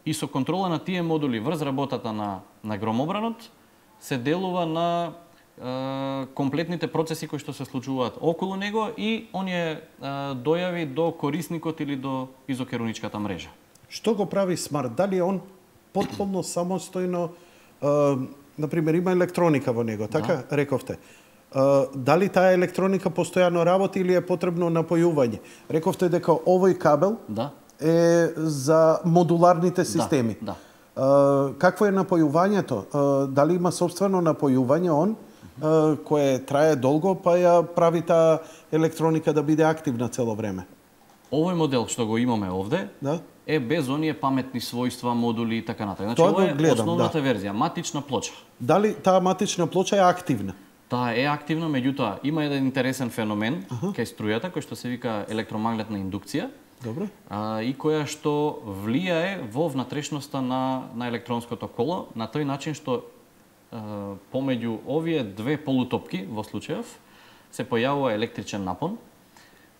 Speaker 3: И со контрола на тие модули врз работата на громобранот се делува на комплетните процеси кои што се случуваат околу него и оние дојави до корисникот или до изокерауничката мрежа.
Speaker 2: Што го прави смарт? Дали он потполно самостојно, например, има електроника во него, така рековте? Дали таа електроника постојано работи или е потребно напојување? Рековте дека овој кабел е за модуларните системи.
Speaker 3: Да.
Speaker 2: Какво е напојувањето? Дали има собствено напојување он, кое трае долго, па ја прави таа електроника да биде активна цело време?
Speaker 3: Овој модел што го имаме овде е без оние паметни својства, модули и така натаму. Значи, ова е основната верзија, матична плоча.
Speaker 2: Дали таа матична плоча е активна?
Speaker 3: Таа е активна, меѓутоа има еден интересен феномен кај струјата кој што се вика електромагнетна индукција.
Speaker 2: Добро.
Speaker 3: И која што влијае во внатрешноста на електронското коло на тој начин што помеѓу овие две полутопки во случајов се појавува електричен напон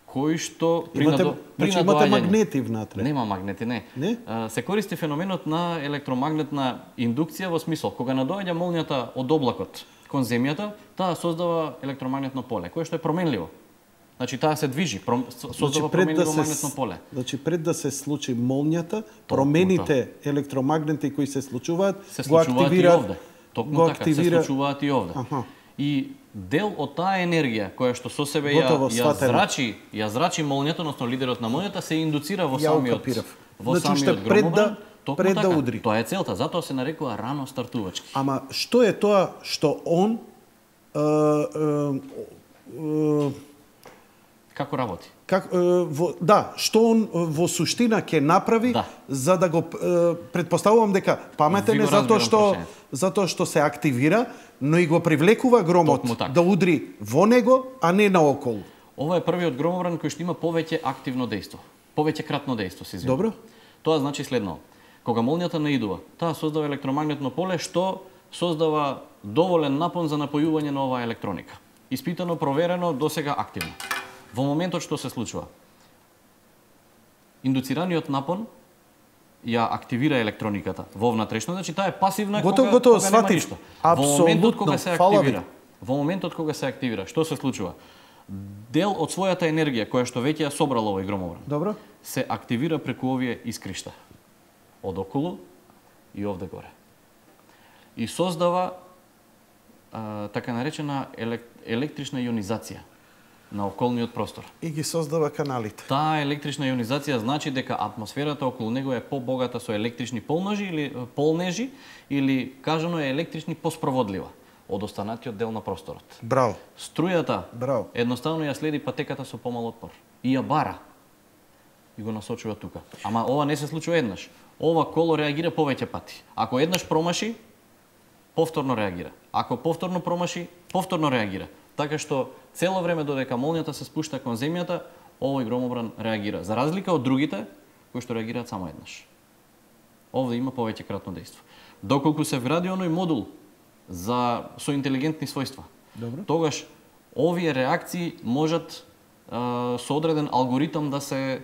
Speaker 3: кој што
Speaker 2: имате магнети внатре.
Speaker 3: Нема магнети, не. Се користи феноменот на електромагнетна индукција во смисол кога надоаѓа молнијата од облакот кон земјата, таа создава електромагнетно поле кое што е променливо. Значи таа се движи, создава променливо магнетно поле.
Speaker 2: Значи пред да се случи молнијата, промените електромагнети кои се случуваат,
Speaker 3: го активираат. Токму така, се случуваат и овде. И дел од таа енергија која што со себе ја зрачи молнијата, односно лидерот на молнијата, се индуцира во самиот громобран.
Speaker 2: Пред да удри.
Speaker 3: Тоа е целта, затоа се нарекува рано стартувачки.
Speaker 2: Ама што е тоа што он
Speaker 3: како работи?
Speaker 2: Што он во суштина ќе направи за да го претпоставувам дека паметен е затоа што се активира, но и го привлекува громот да удри во него, а не наоколу.
Speaker 3: Ова е првиот громобран кој што има повеќе активно дејство, повеќе кратно дејство, се извинувам.
Speaker 2: Добро.
Speaker 3: Тоа значи следно. Кога молнијата наидува, таа создава електромагнетно поле што создава доволен напон за напојување на оваа електроника. Испитано, проверено, досега активно. Во моментот што се случува, индуцираниот напон ја активира електрониката во внатрешно, значи таа е пасивна кога нема ништо. Во моментот кога се активира, што се случува? Дел од својата енергија која што веќе ја собрала овој громобран, се активира преку овие искришта од околу и овде горе. И создава така наречена електрична ионизација на околниот простор.
Speaker 2: И ги создава каналите.
Speaker 3: Таа електрична ионизација значи дека атмосферата околу него е побогата со електрични полнежи или кажано е електрични поспроводлива од останатиот дел на просторот.
Speaker 2: Браво.
Speaker 3: Струјата едноставно ја следи патеката со помал отпор и ја бара.
Speaker 4: и го насочува тука. Ама ова не се случува еднаш. Ова коло реагира повеќе пати. Ако еднаш промаши, повторно реагира. Ако повторно промаши, повторно реагира. Така што цело време додека молњата се спушта кон земјата, овој громобран реагира. За разлика од другите кои што реагираат само еднаш. Овде има повеќе кратно дејство. Доколку се вгради оној модул со интелигентни својства, тогаш овие реакции можат со одреден алгоритам да се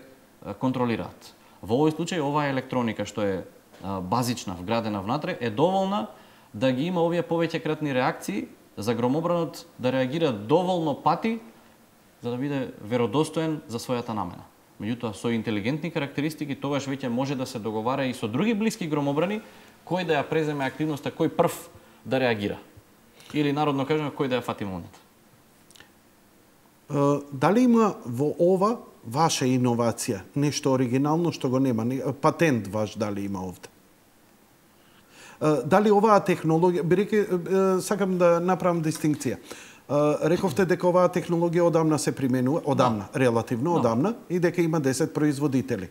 Speaker 4: контролираат. Во овој случај, оваа електроника што е базична, вградена внатре, е доволна да ги има овие повеќекратни реакции за громобранот да реагира доволно пати за да биде веродостоен за својата намена. Меѓутоа, со интелигентни карактеристики, тогаш веќе може да се договара и со други блиски громобрани, кој да ја преземе активноста, кој прв да реагира. Или народно кажано, кој да ја фати молњата.
Speaker 2: Дали има во ова ваша иновација, нешто оригинално што го нема, патент ваш дали има овде? Дали оваа технологија, сакам да направам дистинкција. Рековте дека оваа технологија одамна се применува, релативно одамна, и дека има 10 производители.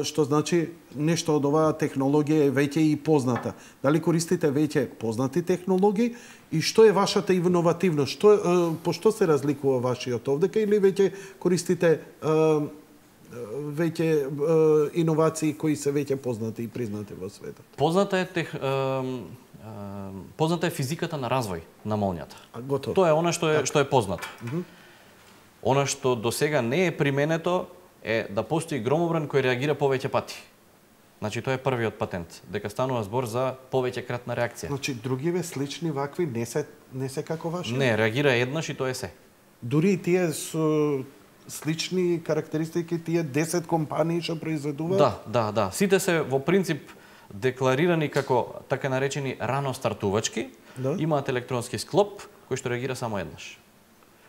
Speaker 2: Што значи нешто од оваа технологија е веќе и позната. Дали користите веќе познати технологии и што е вашата иновативност? По што се разликува вашиот овдека или веќе користите веќе иновации кои се веќе познати и признати во светот?
Speaker 3: Позната е физиката на развој на молњата.
Speaker 2: Готово.
Speaker 3: Тоа е она што е познато. Она што досега не е применето е да постои громобран кој реагира повеќе пати. Значи тоа е првиот патент, дека станува збор за повеќекратна реакција.
Speaker 2: Значи другиве слични вакви не се како ваши?
Speaker 3: Не, реагира еднаш и тоа е се.
Speaker 2: Дури и тие со слични карактеристики, тие 10 компании што произведуваат?
Speaker 3: Да. Сите се во принцип декларирани како така наречени рано стартувачки, имаат електронски склоп кој што реагира само еднаш.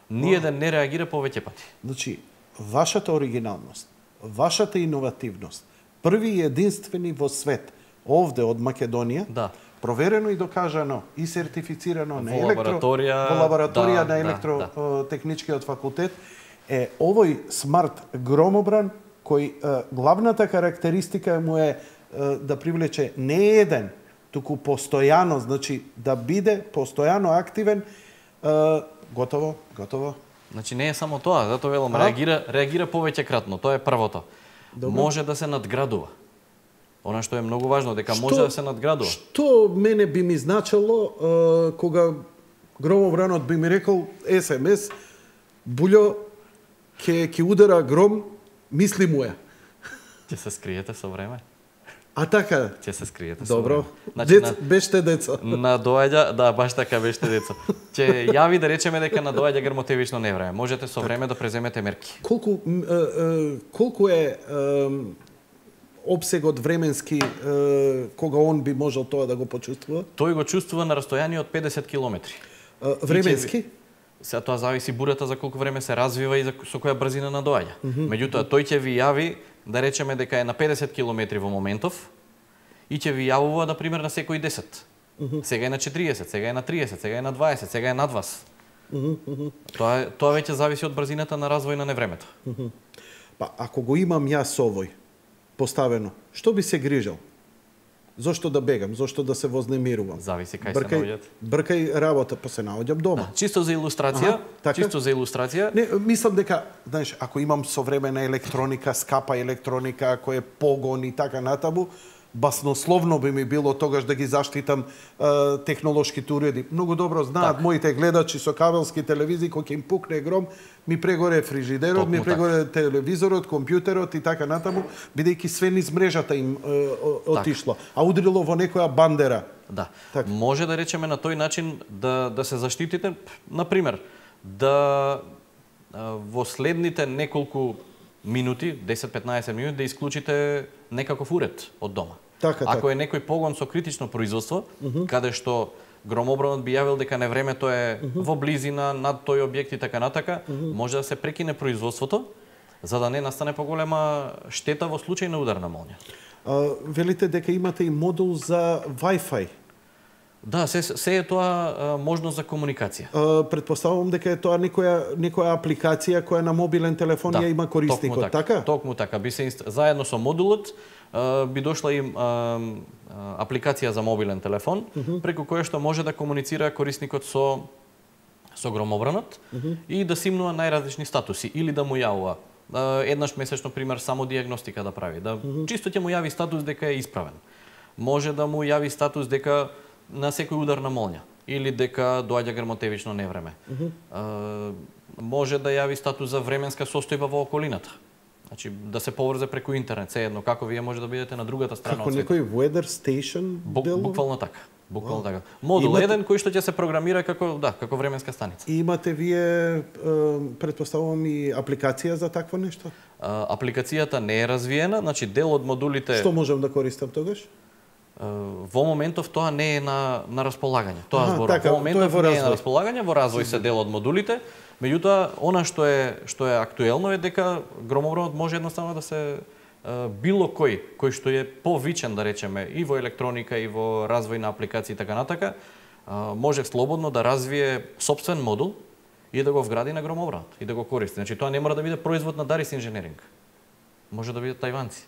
Speaker 3: Ниеден не реагира повеќе пати.
Speaker 2: Значи, вашата оригиналност, вашата иновативност, први и единствени во свет, овде од Македонија, проверено и докажано и сертифицирано на лабораторија на електротехничкиот факултет, е овој смарт громобран кој главната карактеристика му е да привлече не еден, туку постојано, значи да биде постојано активен. Готово.
Speaker 3: Значи не е само тоа, затоа велам реагира повеќекратно, тоа е првото. Може да се надградува. Она што е многу важно, дека може да се надградува.
Speaker 2: Што мене би ми значило кога громобранот би ми рекол СМС, Булјо, ќе удара гром, мисли му е.
Speaker 3: Ќе се скриете со време.
Speaker 2: А така?
Speaker 3: Ќе се скриете.
Speaker 2: Добро. Беште деца.
Speaker 3: Надоаѓа, да, баш така беште деца. Ќе јави да речеме дека надоаѓа грмотевично невреме. Можете со време да преземете мерки.
Speaker 2: Колку е обсегот временски кога он би можел тоа да го почувствува?
Speaker 3: Тој го чувствува на растојание од 50 километри.
Speaker 2: Временски?
Speaker 3: Сега тоа зависи бурата за колку време се развива и со која брзина надоаѓа. Меѓутоа тој ќе ви јави да речеме дека е на 50 километри во моментов и ќе ви јавува, например, на секој 10. Сега е на 40, сега е на 30, сега е на 20, сега е над вас. Тоа веќе зависи од брзината на развој на невремето.
Speaker 2: Па, ако го имам јас овој поставено, што би се грижал? Зошто да бегам? Зошто да се вознемирувам?
Speaker 3: Зависи кај се наоѓат.
Speaker 2: Бркај работа, па се наоѓам дома.
Speaker 3: Чисто за илустрација,
Speaker 2: Не, мислам дека, знаеш, ако имам современа електроника, скапа електроника, кој е погон и така натаму, баснословно би ми било тогаш да ги заштитам технолошките уреди. Многу добро знаат моите гледачи со кабелски телевизии, кога ќе им пукне гром, ми прегоре фрижидерот, ми прегоре телевизорот, компјутерот и така натаму, бидејќи све низ мрежата им отишло, а удрило во некоја бандера.
Speaker 3: Да. Може да речеме на тој начин да се заштитите, например, да во следните неколку минути, 10-15 минути, да исклучите некаков уред од дома. Ако е некој погон со критично производство, каде што громобранот би јавил дека невремето е во близина над тој објект и така натака, може да се прекине производството, за да не настане поголема штета во случај на удар на молња.
Speaker 2: Велите дека имате и модул за Wi-Fi.
Speaker 3: Да, се е тоа можност за комуникација.
Speaker 2: Предпоставувам дека е тоа некоја апликација која на мобилен телефон ја има корисникот, така?
Speaker 3: Токму така. Заедно со модулот би дошла и апликација за мобилен телефон, преку која што може да комуницира корисникот со громобранот и да симнува најразлични статуси или да му јавува еднаш месечно, пример, само диагностика да прави, да чисто ќе му јави статус дека е исправен. Може да му јави статус дека на секој удар на молња или дека доаѓа грмотевично невреме. Може да јави статус за временска состојба во околината. Значи да се поврзе преку интернет, се едно како вие може да бидете на другата страна
Speaker 2: од светот. Како некој weather station дело?
Speaker 3: Буквално така. Буквално така. Модул еден кој што ќе се програмира како временска станица.
Speaker 2: И имате вие претпоставувам и апликација за такво нешто?
Speaker 3: Апликацијата не е развиена, значи дел од модулите.
Speaker 2: Што можам да користам тогаш?
Speaker 3: Во моментов тоа не е на располагање. Тоа зборам.
Speaker 2: Така,
Speaker 3: во моментов
Speaker 2: тоа
Speaker 3: не е на располагање, во развој се дел од модулите. Меѓутоа, она што е актуелно е дека громобранот може едноставно да се било кој што е повичен, да речеме, и во електроника, и во развој на апликации и така натака, може слободно да развие сопствен модул и да го вгради на громобранот и да го користи. Значи тоа не мора да биде производ на Дарис инженеринг. Може да бидат тајванци.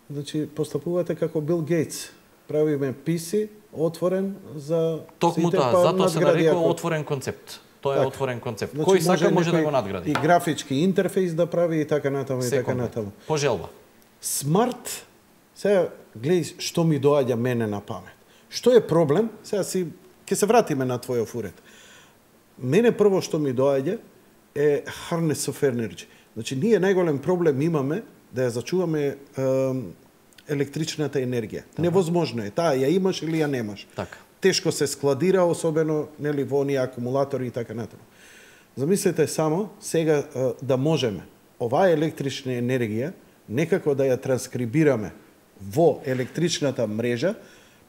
Speaker 2: Значи постапувате како Бил Гейтс. Правиме PC отворен за
Speaker 3: токму
Speaker 2: сите,
Speaker 3: тоа, затоа се нарекува отворен концепт. Тоа е отворен концепт.
Speaker 2: Значи,
Speaker 3: кој сака може да го надгради.
Speaker 2: И графички интерфејс да прави и така натаму и така натаму.
Speaker 3: По желба.
Speaker 2: Смарт, сега гледај што ми доаѓа мене на памет. Што е проблем? Сега ќе се вратиме на твојот уред. Мене прво што ми доаѓа е harness of energy. Значи ние најголем проблем имаме да ја зачуваме електричната енергија. Невозможно е. Таа ја имаш или ја немаш.
Speaker 3: Така.
Speaker 2: Тешко се складира, особено нели во оние акумулатори и така натаму. Замислете само сега да можеме оваа електрична енергија некако да ја транскрибираме во електричната мрежа,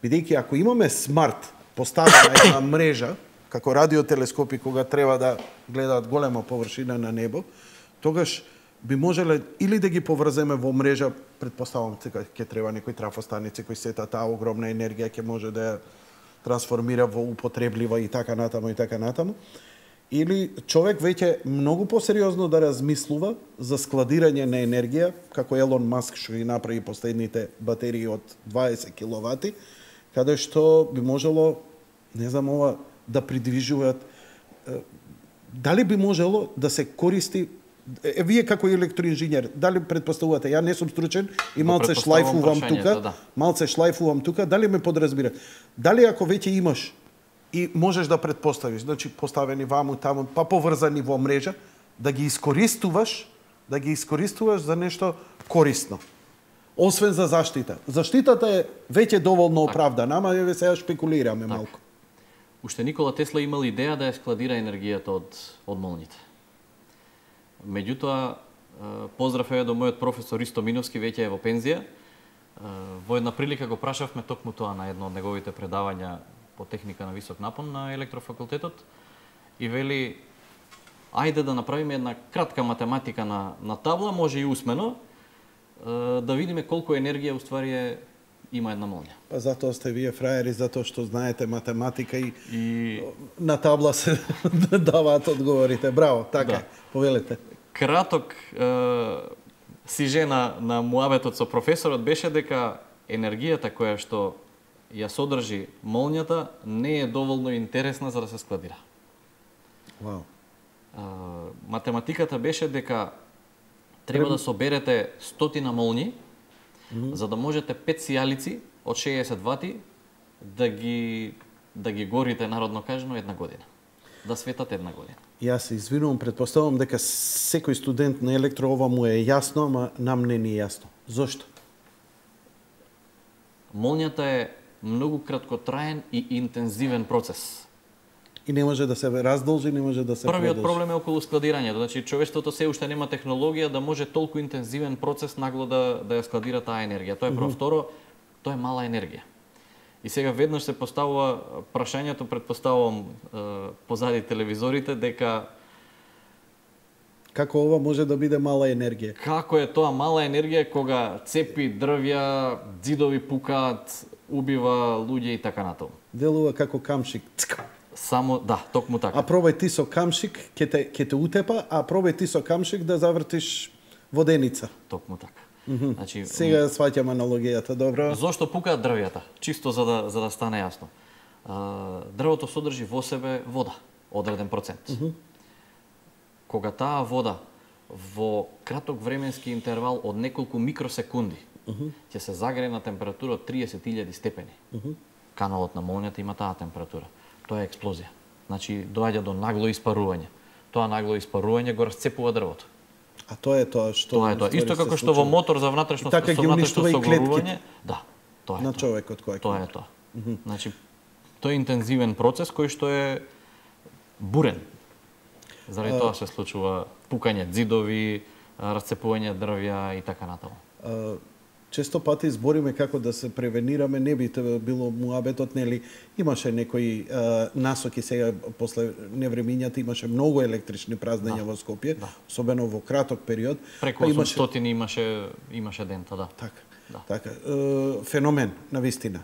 Speaker 2: бидејќи ако имаме смарт поставена една мрежа, како радиотелескопи кога треба да гледаат голема површина на небо, тогаш би можеле или да ги поврземе во мрежа, предпоставам ќе треба некои трафостаници кои сета таа огромна енергија ќе може да ја трансформира во употреблива и така натаму, или човек веќе многу посериозно да размислува за складирање на енергија, како Елон Маск што ги направи последните батерии од 20 киловати, каде што би можело, не знам ова, да придвижуваат, дали би можело да се користи. Вие како електроинженер, дали предпоставувате, ја не сум стручен и малце шлајфувам тука, дали ме подразбира? Дали ако веќе имаш и можеш да предпоставиш, значи поставени ваму таму, па поврзани во мрежа, да ги искористуваш за нешто корисно. Освен за заштита. Заштитата е веќе доволно оправдана, ама еве сега шпекулираме малку.
Speaker 4: Уште Никола Тесла имал идеја да ја складира енергијата од молњите. Меѓутоа, поздрав е до мојот професор Ристо Миновски, веќе е во пензија. Во една прилика го прашавме токму тоа на едно од неговите предавања по техника на висок напон на електрофакултетот и вели, ајде да направиме една кратка математика на табла, може и усмено, да видиме колку енергија уствари има една молња.
Speaker 2: Па затоа сте вие фраери, затоа што знаете математика и на табла се даваат одговорите. Браво, така, повелете.
Speaker 4: Краток сижена на муабетот со професорот беше дека енергијата која што ја содржи молњата не е доволно интересна за да се складира.
Speaker 2: Вау.
Speaker 4: Математиката беше дека треба да соберете 100 молњи, за да можете 5 сијалици од 60 вати да ги горите, народно кажано, една година. Да светат една година.
Speaker 2: Јас се извинувам, предпоставувам дека секој студент на електро ова му е јасно, ама нам не ни е јасно. Зошто?
Speaker 4: Молњата е многу краткотраен и интензивен процес.
Speaker 2: И не може да се раздолжи, не може да се продолжи.
Speaker 4: Првиот проблем е околу складирањето. Значи, човештвото се уште нема технологија да може толку интензивен процес нагло да ја складира таа енергија. Тоа е прво. Второ, тоа е мала енергија. И сега веднаш се поставува прашањето, предпоставувам позади телевизорите, дека
Speaker 2: како ова може да биде мала енергија?
Speaker 4: Како е тоа мала енергија кога цепи, дрвја, ѕидови пукаат, убива луѓе и така натаму.
Speaker 2: Делува како камшик.
Speaker 4: Само, да, токму така.
Speaker 2: А пробај ти со камшик, ќе те утепа, а пробај ти со камшик да завртиш воденица.
Speaker 4: Токму така. Значи,
Speaker 2: Сега сваќам аналогијата, добро.
Speaker 4: зошто пукаат дрвјата? Чисто за да стане јасно. Дрвото содржи во себе вода, одреден процент. Кога таа вода во краток временски интервал од неколку микросекунди ќе се загрее на температура од 30.000 степени. Каналот на молњата има таа температура. Тоа е експлозија. Значи, доаѓа до нагло испарување. Тоа нагло испарување го расцепува дрвото.
Speaker 2: А тоа е тоа што...
Speaker 4: Тоа е тоа. Исто како што во мотор за внатрешно
Speaker 2: така ги уништува и
Speaker 4: согорување, да, тоа е
Speaker 2: на
Speaker 4: тоа.
Speaker 2: човекот кој
Speaker 4: Тоа е тоа. Значи, тоа е интензивен процес кој што е бурен. Заради тоа се случува пукање ѕидови, расцепување дрвја и така натаму.
Speaker 2: Често пати збориме како да се превенираме, не би било муабетот, нели, имаше некои насоки сега, после невремињата имаше многу електрични празнења во Скопје, особено во краток период.
Speaker 4: Преку 800 имаше дента, да.
Speaker 2: Така. Така, феномен, навистина.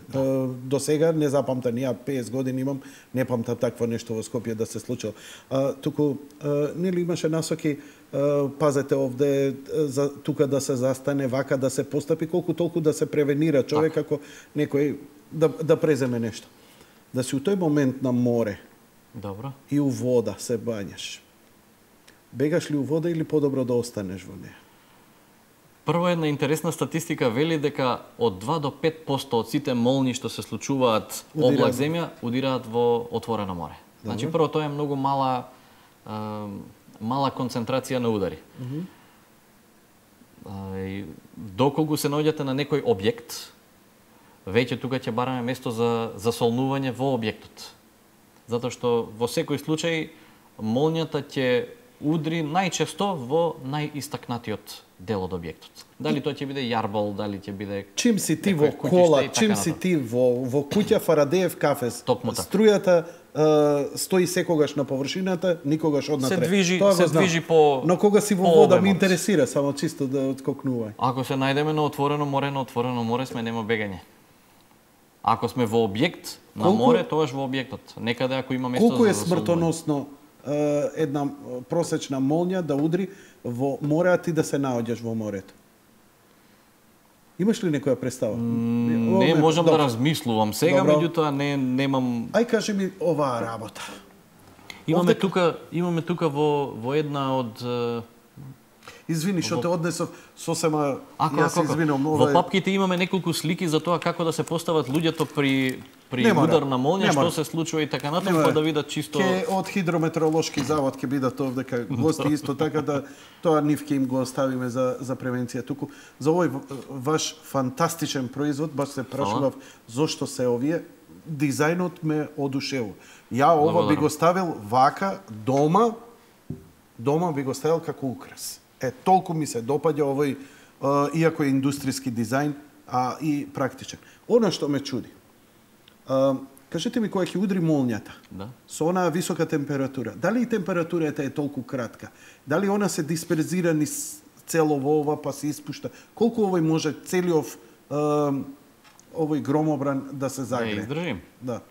Speaker 2: До сега не запамтам, ја 50 години имам, не памтам такво нешто во Скопје да се случило. Туку, нели имаше насоки, пазете овде, тука да се застане, вака да се постапи, колку толку да се превенира човек ако некој да преземе нешто. Да си у тој момент на море
Speaker 4: Добро.
Speaker 2: и у вода се бањаш. Бегаш ли у вода или подобро да останеш во неја?
Speaker 4: Прво една интересна статистика вели дека од 2 до 5% од сите молњи што се случуваат облак земја удираат во отворено море. Значи прво тоа е многу мала концентрација на удари. Доколку се наоѓате на некој објект, веќе тука ќе бараме место за засолнување во објектот. Затоа што во секој случај молњата ќе удри најчесто во најистакнатиот дел од објектот. Дали тоа ќе биде јарбол, дали ќе биде...
Speaker 2: Чим си ти во кола, чим си ти во куќа Фарадеев кафес, струјата стои секогаш на површината, никогаш однатре.
Speaker 4: Се движи по...
Speaker 2: Но кога си во вода ми интересира, само чисто да откокнувај.
Speaker 4: Ако се најдеме на отворено море сме нема бегање. Ако сме во објект на море, тогаш во објектот. Некаде ако има место за
Speaker 2: колку е смртоносно една просечна молња да удри во море, а ти да се наоѓаш во морето? Имаш ли некоја представа?
Speaker 4: Не можам да размислувам сега, меѓутоа немам...
Speaker 2: Ај кажи ми оваа работа.
Speaker 4: Имаме тука во една од...
Speaker 2: Извини, што те однесов сосема... Јас се извинувам.
Speaker 4: Во папките имаме неколку слики за тоа како да се постават луѓето при удар на молња, што се случува и така натаму, па да видат чисто...
Speaker 2: Од хидрометеоролошки завод ќе бидат овде кај гости исто така да тоа нив ќе им го оставиме за превенција туку. За овој ваш фантастичен производ баш се прашував зошто се овие. Дизајнот ме одушевува. Ја ова би го ставил вака дома би го ставил како украс. Толку ми се допаѓа овој, иако е индустријски дизајн, и практичен. Она што ме чуди, кажете ми кога ќе удри молњата, со онаа висока температура, дали и температурата е толку кратка? Дали она се дисперзира низ цело во ова, па се испушта? Колку овој може целиот овој громобран да се загрее?
Speaker 4: Издржим.
Speaker 2: Да.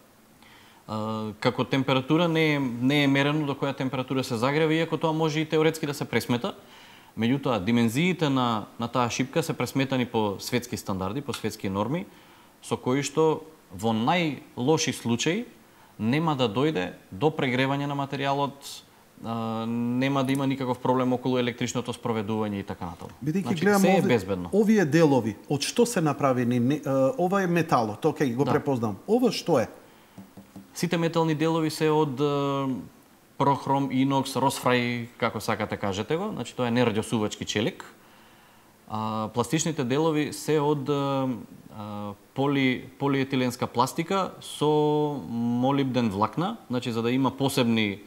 Speaker 4: Како температура не е мерено до која температура се загрева, иако тоа може и теоретски да се пресмета. Меѓутоа, димензиите на таа шипка се пресметани по светски стандарди, по светски норми, со кои што во најлоши случаи нема да дојде до прегревање на материјалот, нема да има никаков проблем околу електричното спроведување и така натаму.
Speaker 2: Бидејќи гледам овие делови, од што се направени? Ова е металот, окей, го препознам. Ова што е?
Speaker 4: Сите метални делови се од прохром, инокс, росфрај, како сакате кажете го, значи тоа е нерадиосувачки челик. Пластичните делови се од полиетиленска пластика со молибден влакна, значи за да има посебни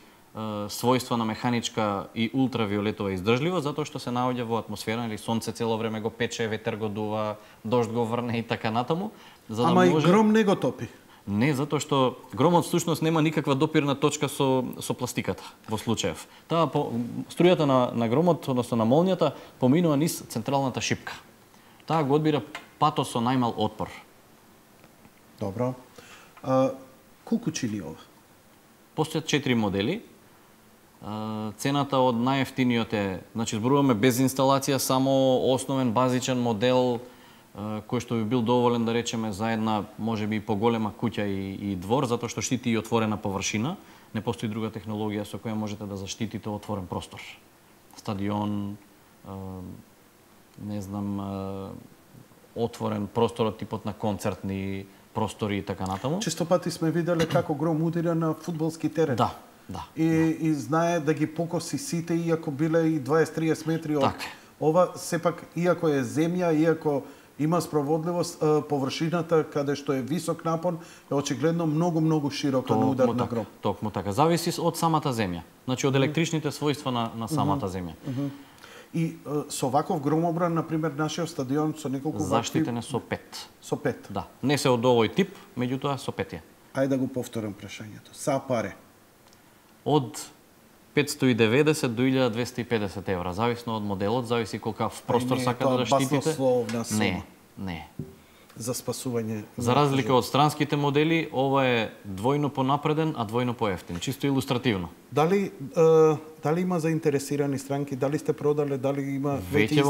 Speaker 4: својства на механичка и ултравиолетова издржливост, затоа што се наоѓа во атмосфера, или сонце цело време го пече, ветер го дува, дожд го врне и така натаму.
Speaker 2: Ама и гром не го топи.
Speaker 4: Не, затоа што громот всушност нема никаква допирна точка со пластиката во случајов. Таа струјата на громот, односно на молњата, поминува низ централната шипка. Таа го одбира патот со најмал отпор.
Speaker 2: Добро. Колку чини ова?
Speaker 4: Постојат 4 модели. Цената од најефтиниот е, значи зборуваме без инсталација, само основен базичен модел кој што би бил доволен, да речеме, за една можеби поголема куќа и двор, затоа што штити и отворена површина. Не постои друга технологија со која можете да заштитите отворен простор. Стадион, не знам, отворен простор од типот на концертни простори и така натаму.
Speaker 2: Често пати сме виделе како гром удира на фудбалски терен.
Speaker 4: Да, да.
Speaker 2: И знае да ги покоси сите, иако биле и 20-30 метри од...
Speaker 4: Така.
Speaker 2: Ова, сепак, иако е земја, иако има спроводливост, површината каде што е висок напон, е очигледно многу широка на удар на гром.
Speaker 4: Токму така. Зависи од самата земја. Значи, од електричните својства на самата земја.
Speaker 2: И со ваков громобран, например, нашиот стадион со неколку
Speaker 4: заштитен е со 5.
Speaker 2: Со 5.
Speaker 4: Да. Не се од овој тип, меѓутоа со 5 е.
Speaker 2: Ајде да го повторам прашањето. Са паре?
Speaker 4: Од 590 до 1250 евра, зависно од моделот, зависи колкав простор сакате да штитите.
Speaker 2: Баснословна сума.
Speaker 4: Не.
Speaker 2: За спасување.
Speaker 4: За разлика од странските модели, ова е двојно понапреден, а двојно поевтин, чисто илустративно.
Speaker 2: Дали има заинтересирани странки, дали сте продале, дали има веќе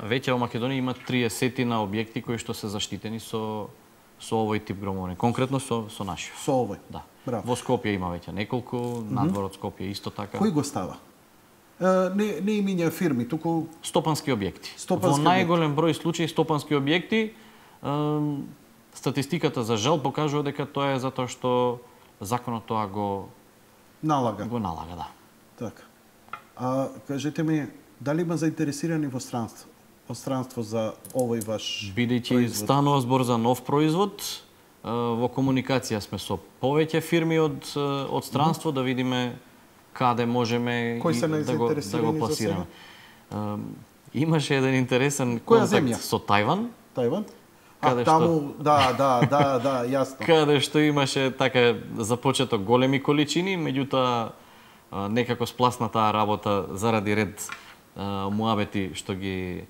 Speaker 4: Веќе во Македонија има 30 на објекти кои што се заштитени со овој тип громовни, конкретно со нашиот.
Speaker 2: Со овој.
Speaker 4: Да.
Speaker 2: Браво.
Speaker 4: Во Скопје има веќе неколку, надвор од Скопје исто така.
Speaker 2: Кој го става? Не имиња фирми, туку
Speaker 4: стопански објекти.
Speaker 2: Во
Speaker 4: најголем број случаи стопански објекти, статистиката за жал покажува дека тоа е затоа што законот тоа го
Speaker 2: налага,
Speaker 4: да.
Speaker 2: Така. Кажете ми, дали има заинтересирани во странство за овој ваш
Speaker 4: бидејќи станува збор за нов производ, во комуникација сме со повеќе фирми од странство да видиме каде можеме да го пласираме. Имаше еден интересен контакт со Тајван.
Speaker 2: Таму, да, јасно.
Speaker 4: Каде што имаше така започето големи количини, меѓутоа некако спласна таа работа заради ред муабети што ги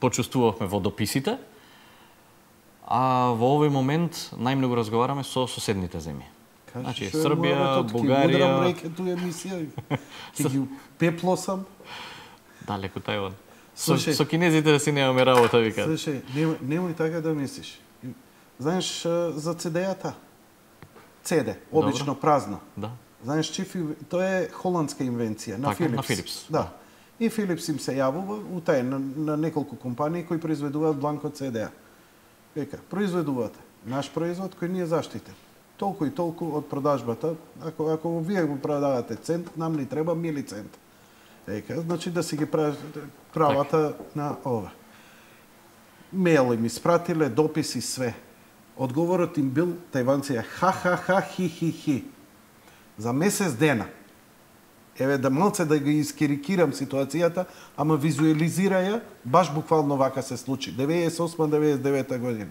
Speaker 4: почувствувавме во дописите. А во овој момент најмногу разговараме со соседните земји. Значи Србија, Бугарија,
Speaker 2: ќе ги пеплосам.
Speaker 4: Далеку Тајван. Со кинезите си немаме работа, вика.
Speaker 2: Слушај, немој така да мислиш. Знаеш за CD-ата? CD, обично празна.
Speaker 4: Да.
Speaker 2: Знаеш, тоа е холандска инвенција на Филипс.
Speaker 4: На Филипс.
Speaker 2: Да. И Филипс им се јавува на неколку компании кои произведуваат бланко CD-а. Века, произведувате наш производ кој не е заштитен. Толку и толку од продажбата, ако вие го продавате цент, нам ни треба милицент. Ека, значи да си ги правата на ова. Мейл им испратиле, дописи, све. Одговорот им бил, тајванција, ха, хи. За месец дена. Еве да малце да ги искерикирам ситуацијата, ама визуализираја, баш буквално вака се случи. 98-99 година.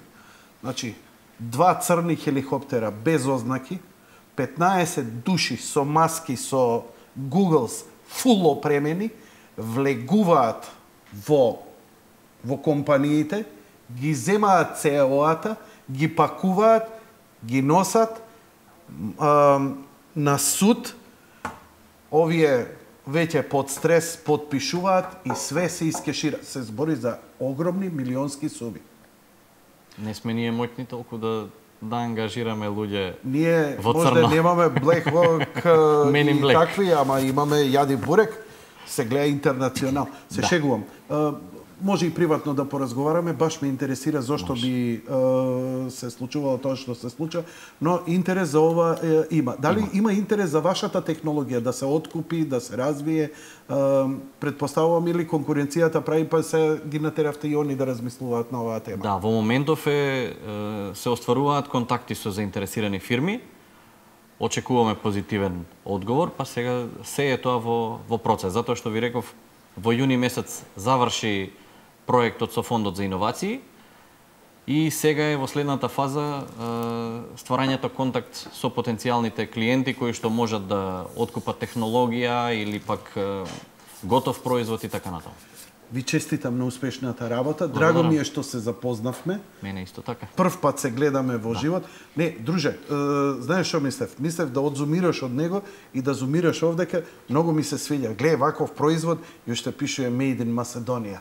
Speaker 2: Значи, 2 црни хеликоптера без ознаки, 15 души со маски, со Googles, фул опремени, влегуваат во компаниите, ги земаат ЦЕО-ата, ги пакуваат, ги носат на суд. Овие веќе под стрес подпишуваат и све се искешира. Се збори за огромни милионски суми.
Speaker 4: Не сме ние моќни толку да ангажираме луѓе
Speaker 2: ние
Speaker 4: во црно.
Speaker 2: Ние немаме Black Hawk и такви, ама имаме јади бурек, се гледа интернационал. Се шегувам. Може и приватно да поразговараме, баш ме интересира зошто би се случувало тоа што се случува, но интерес за ова има. Дали има интерес за вашата технологија да се откупи, да се развие? Предпоставувам или конкуренцијата прави па се ги натеравте и они да размислуваат на оваа тема?
Speaker 4: Да, во моментов се остваруваат контакти со заинтересирани фирми. Очекуваме позитивен одговор, па сега се е тоа во процес, затоа што ви реков во јуни месец заврши проектот со Фондот за иновации и сега е во следната фаза стварањето контакт со потенцијалните клиенти кои што можат да откупат технологија или пак готов производ и така натаму.
Speaker 2: Ви честитам на успешната работа. Драго ми е што се запознавме.
Speaker 4: Мене исто така.
Speaker 2: Прв пат се гледаме во живот. Не, друже, знаеш што мислев? Мислев да одзумираш од него и да зумираш овдека. Многу ми се свиѓа. Гледај ваков производ и уште пишува Made in Macedonia.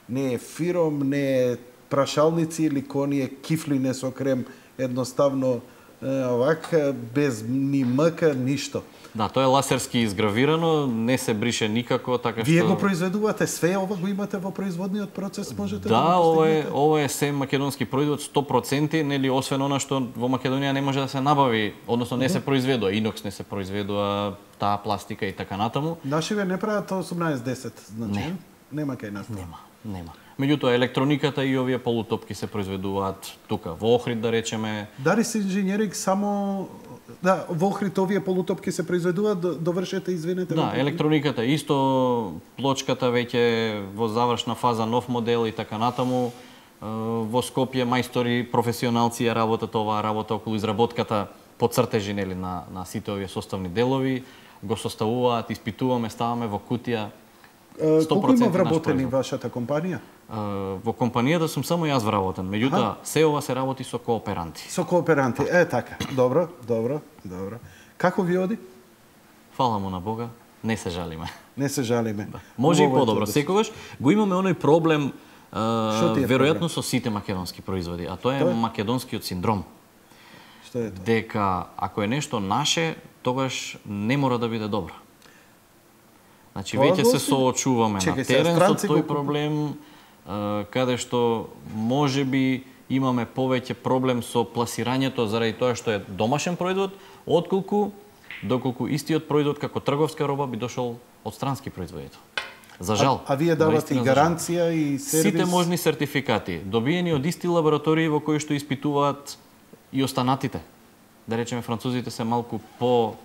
Speaker 2: Не е фиром, не е прашалници или коние кифлине со крем, едноставно овака, без ни мъка, ништо.
Speaker 4: Да, тоа е ласерски изгравирано, не се брише никако, така што...
Speaker 2: Вие го произведувате, све ова го имате во производниот процес, можете да
Speaker 4: Да,
Speaker 2: го
Speaker 4: ова е се македонски производ 100%, нели, освен она што во Македонија не може да се набави, односно не се произведува, инокс не се произведува, таа пластика и така натаму.
Speaker 2: Нашиве не прават 18-10, значи? Нема кај нас.
Speaker 4: Нема. Меѓутоа, електрониката и овие полутопки се произведуваат тука, во Охрид, да речеме.
Speaker 2: Дарис инженеринг само... Да, во Охрид овие полутопки се произведуваат, довршете, извинете.
Speaker 4: Да, електрониката исто, плочката веќе во завршна фаза, нов модел и така натаму. Во Скопје мајстори, професионалци ја работат оваа работа околу изработката по цртежи, нели, на сите овие составни делови. Го составуваат, испитуваме, ставаме во кутија.
Speaker 2: Колку има вработени вашата компанија?
Speaker 4: Во компанијата сум само јас вработен, меѓутоа се ова се работи со кооперанти.
Speaker 2: Со кооперанти, така. Добро. Како ви оди?
Speaker 4: Фала му на Бога, не се жалиме.
Speaker 2: Не се жалиме.
Speaker 4: Да. Може и подобро. Секогаш го имаме оној проблем, веројатно со сите македонски производи, а тоа е македонскиот синдром.
Speaker 2: Што е тоа?
Speaker 4: Дека ако е нешто наше, тогаш не мора да биде добро. Значи, веќе се соочуваме на терен со тој проблем, каде што можеби имаме повеќе проблем со пласирањето заради тоа што е домашен производ, доколку истиот производ како трговска роба би дошол од странски производител. За жал.
Speaker 2: А вие давате и гаранција и сервис?
Speaker 4: Сите можни сертификати, добиени од исти лаборатории во кои што испитуваат и останатите. Да речеме, французите се малку по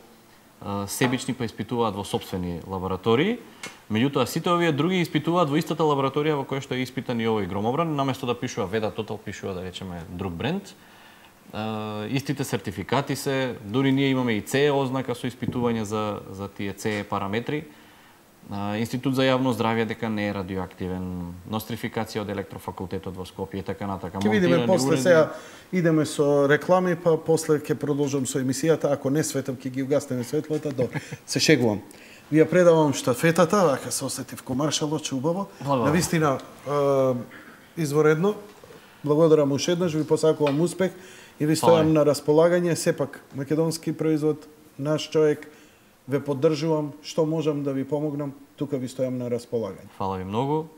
Speaker 4: себични, па испитуваат во сопствени лаборатории. Меѓутоа, сите овие други испитуваат во истата лабораторија во која што е испитан и овој громобран, наместо да пишува Веда Тотал, пишува, да речеме, друг бренд. Истите сертификати се, дури ние имаме и CE ознака со испитување за тие CE параметри. Институт за јавно здравје дека не е радиоактивен, нострификација од електрофакултетот во Скопје и така натака.
Speaker 2: Ќе видиме после, сега идеме со реклами, па после ќе продолжам со емисијата, ако не светам ќе ги угаснеме светлата, добро. Се шегувам. Ви ја предавам штафетата, вака се осетив ко маршалот, убаво. Навистина изворедно. Благодарам уште еднаш, ви посакувам успех и ви стојам на располагање, сепак македонски производ, наш човек. Ве поддржувам, што можам да ви помогнам, тука ви стојам на располагање.
Speaker 4: Фала ви многу.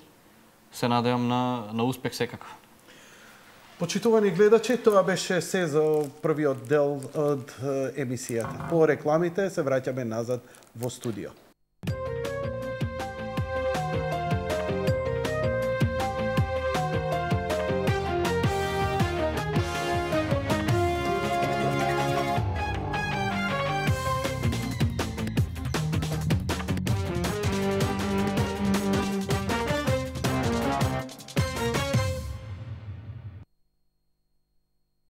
Speaker 4: Се надевам на успех секако.
Speaker 2: Почитувани гледачи, тоа беше се за првиот дел од емисијата. По рекламите се враќаме назад во студио.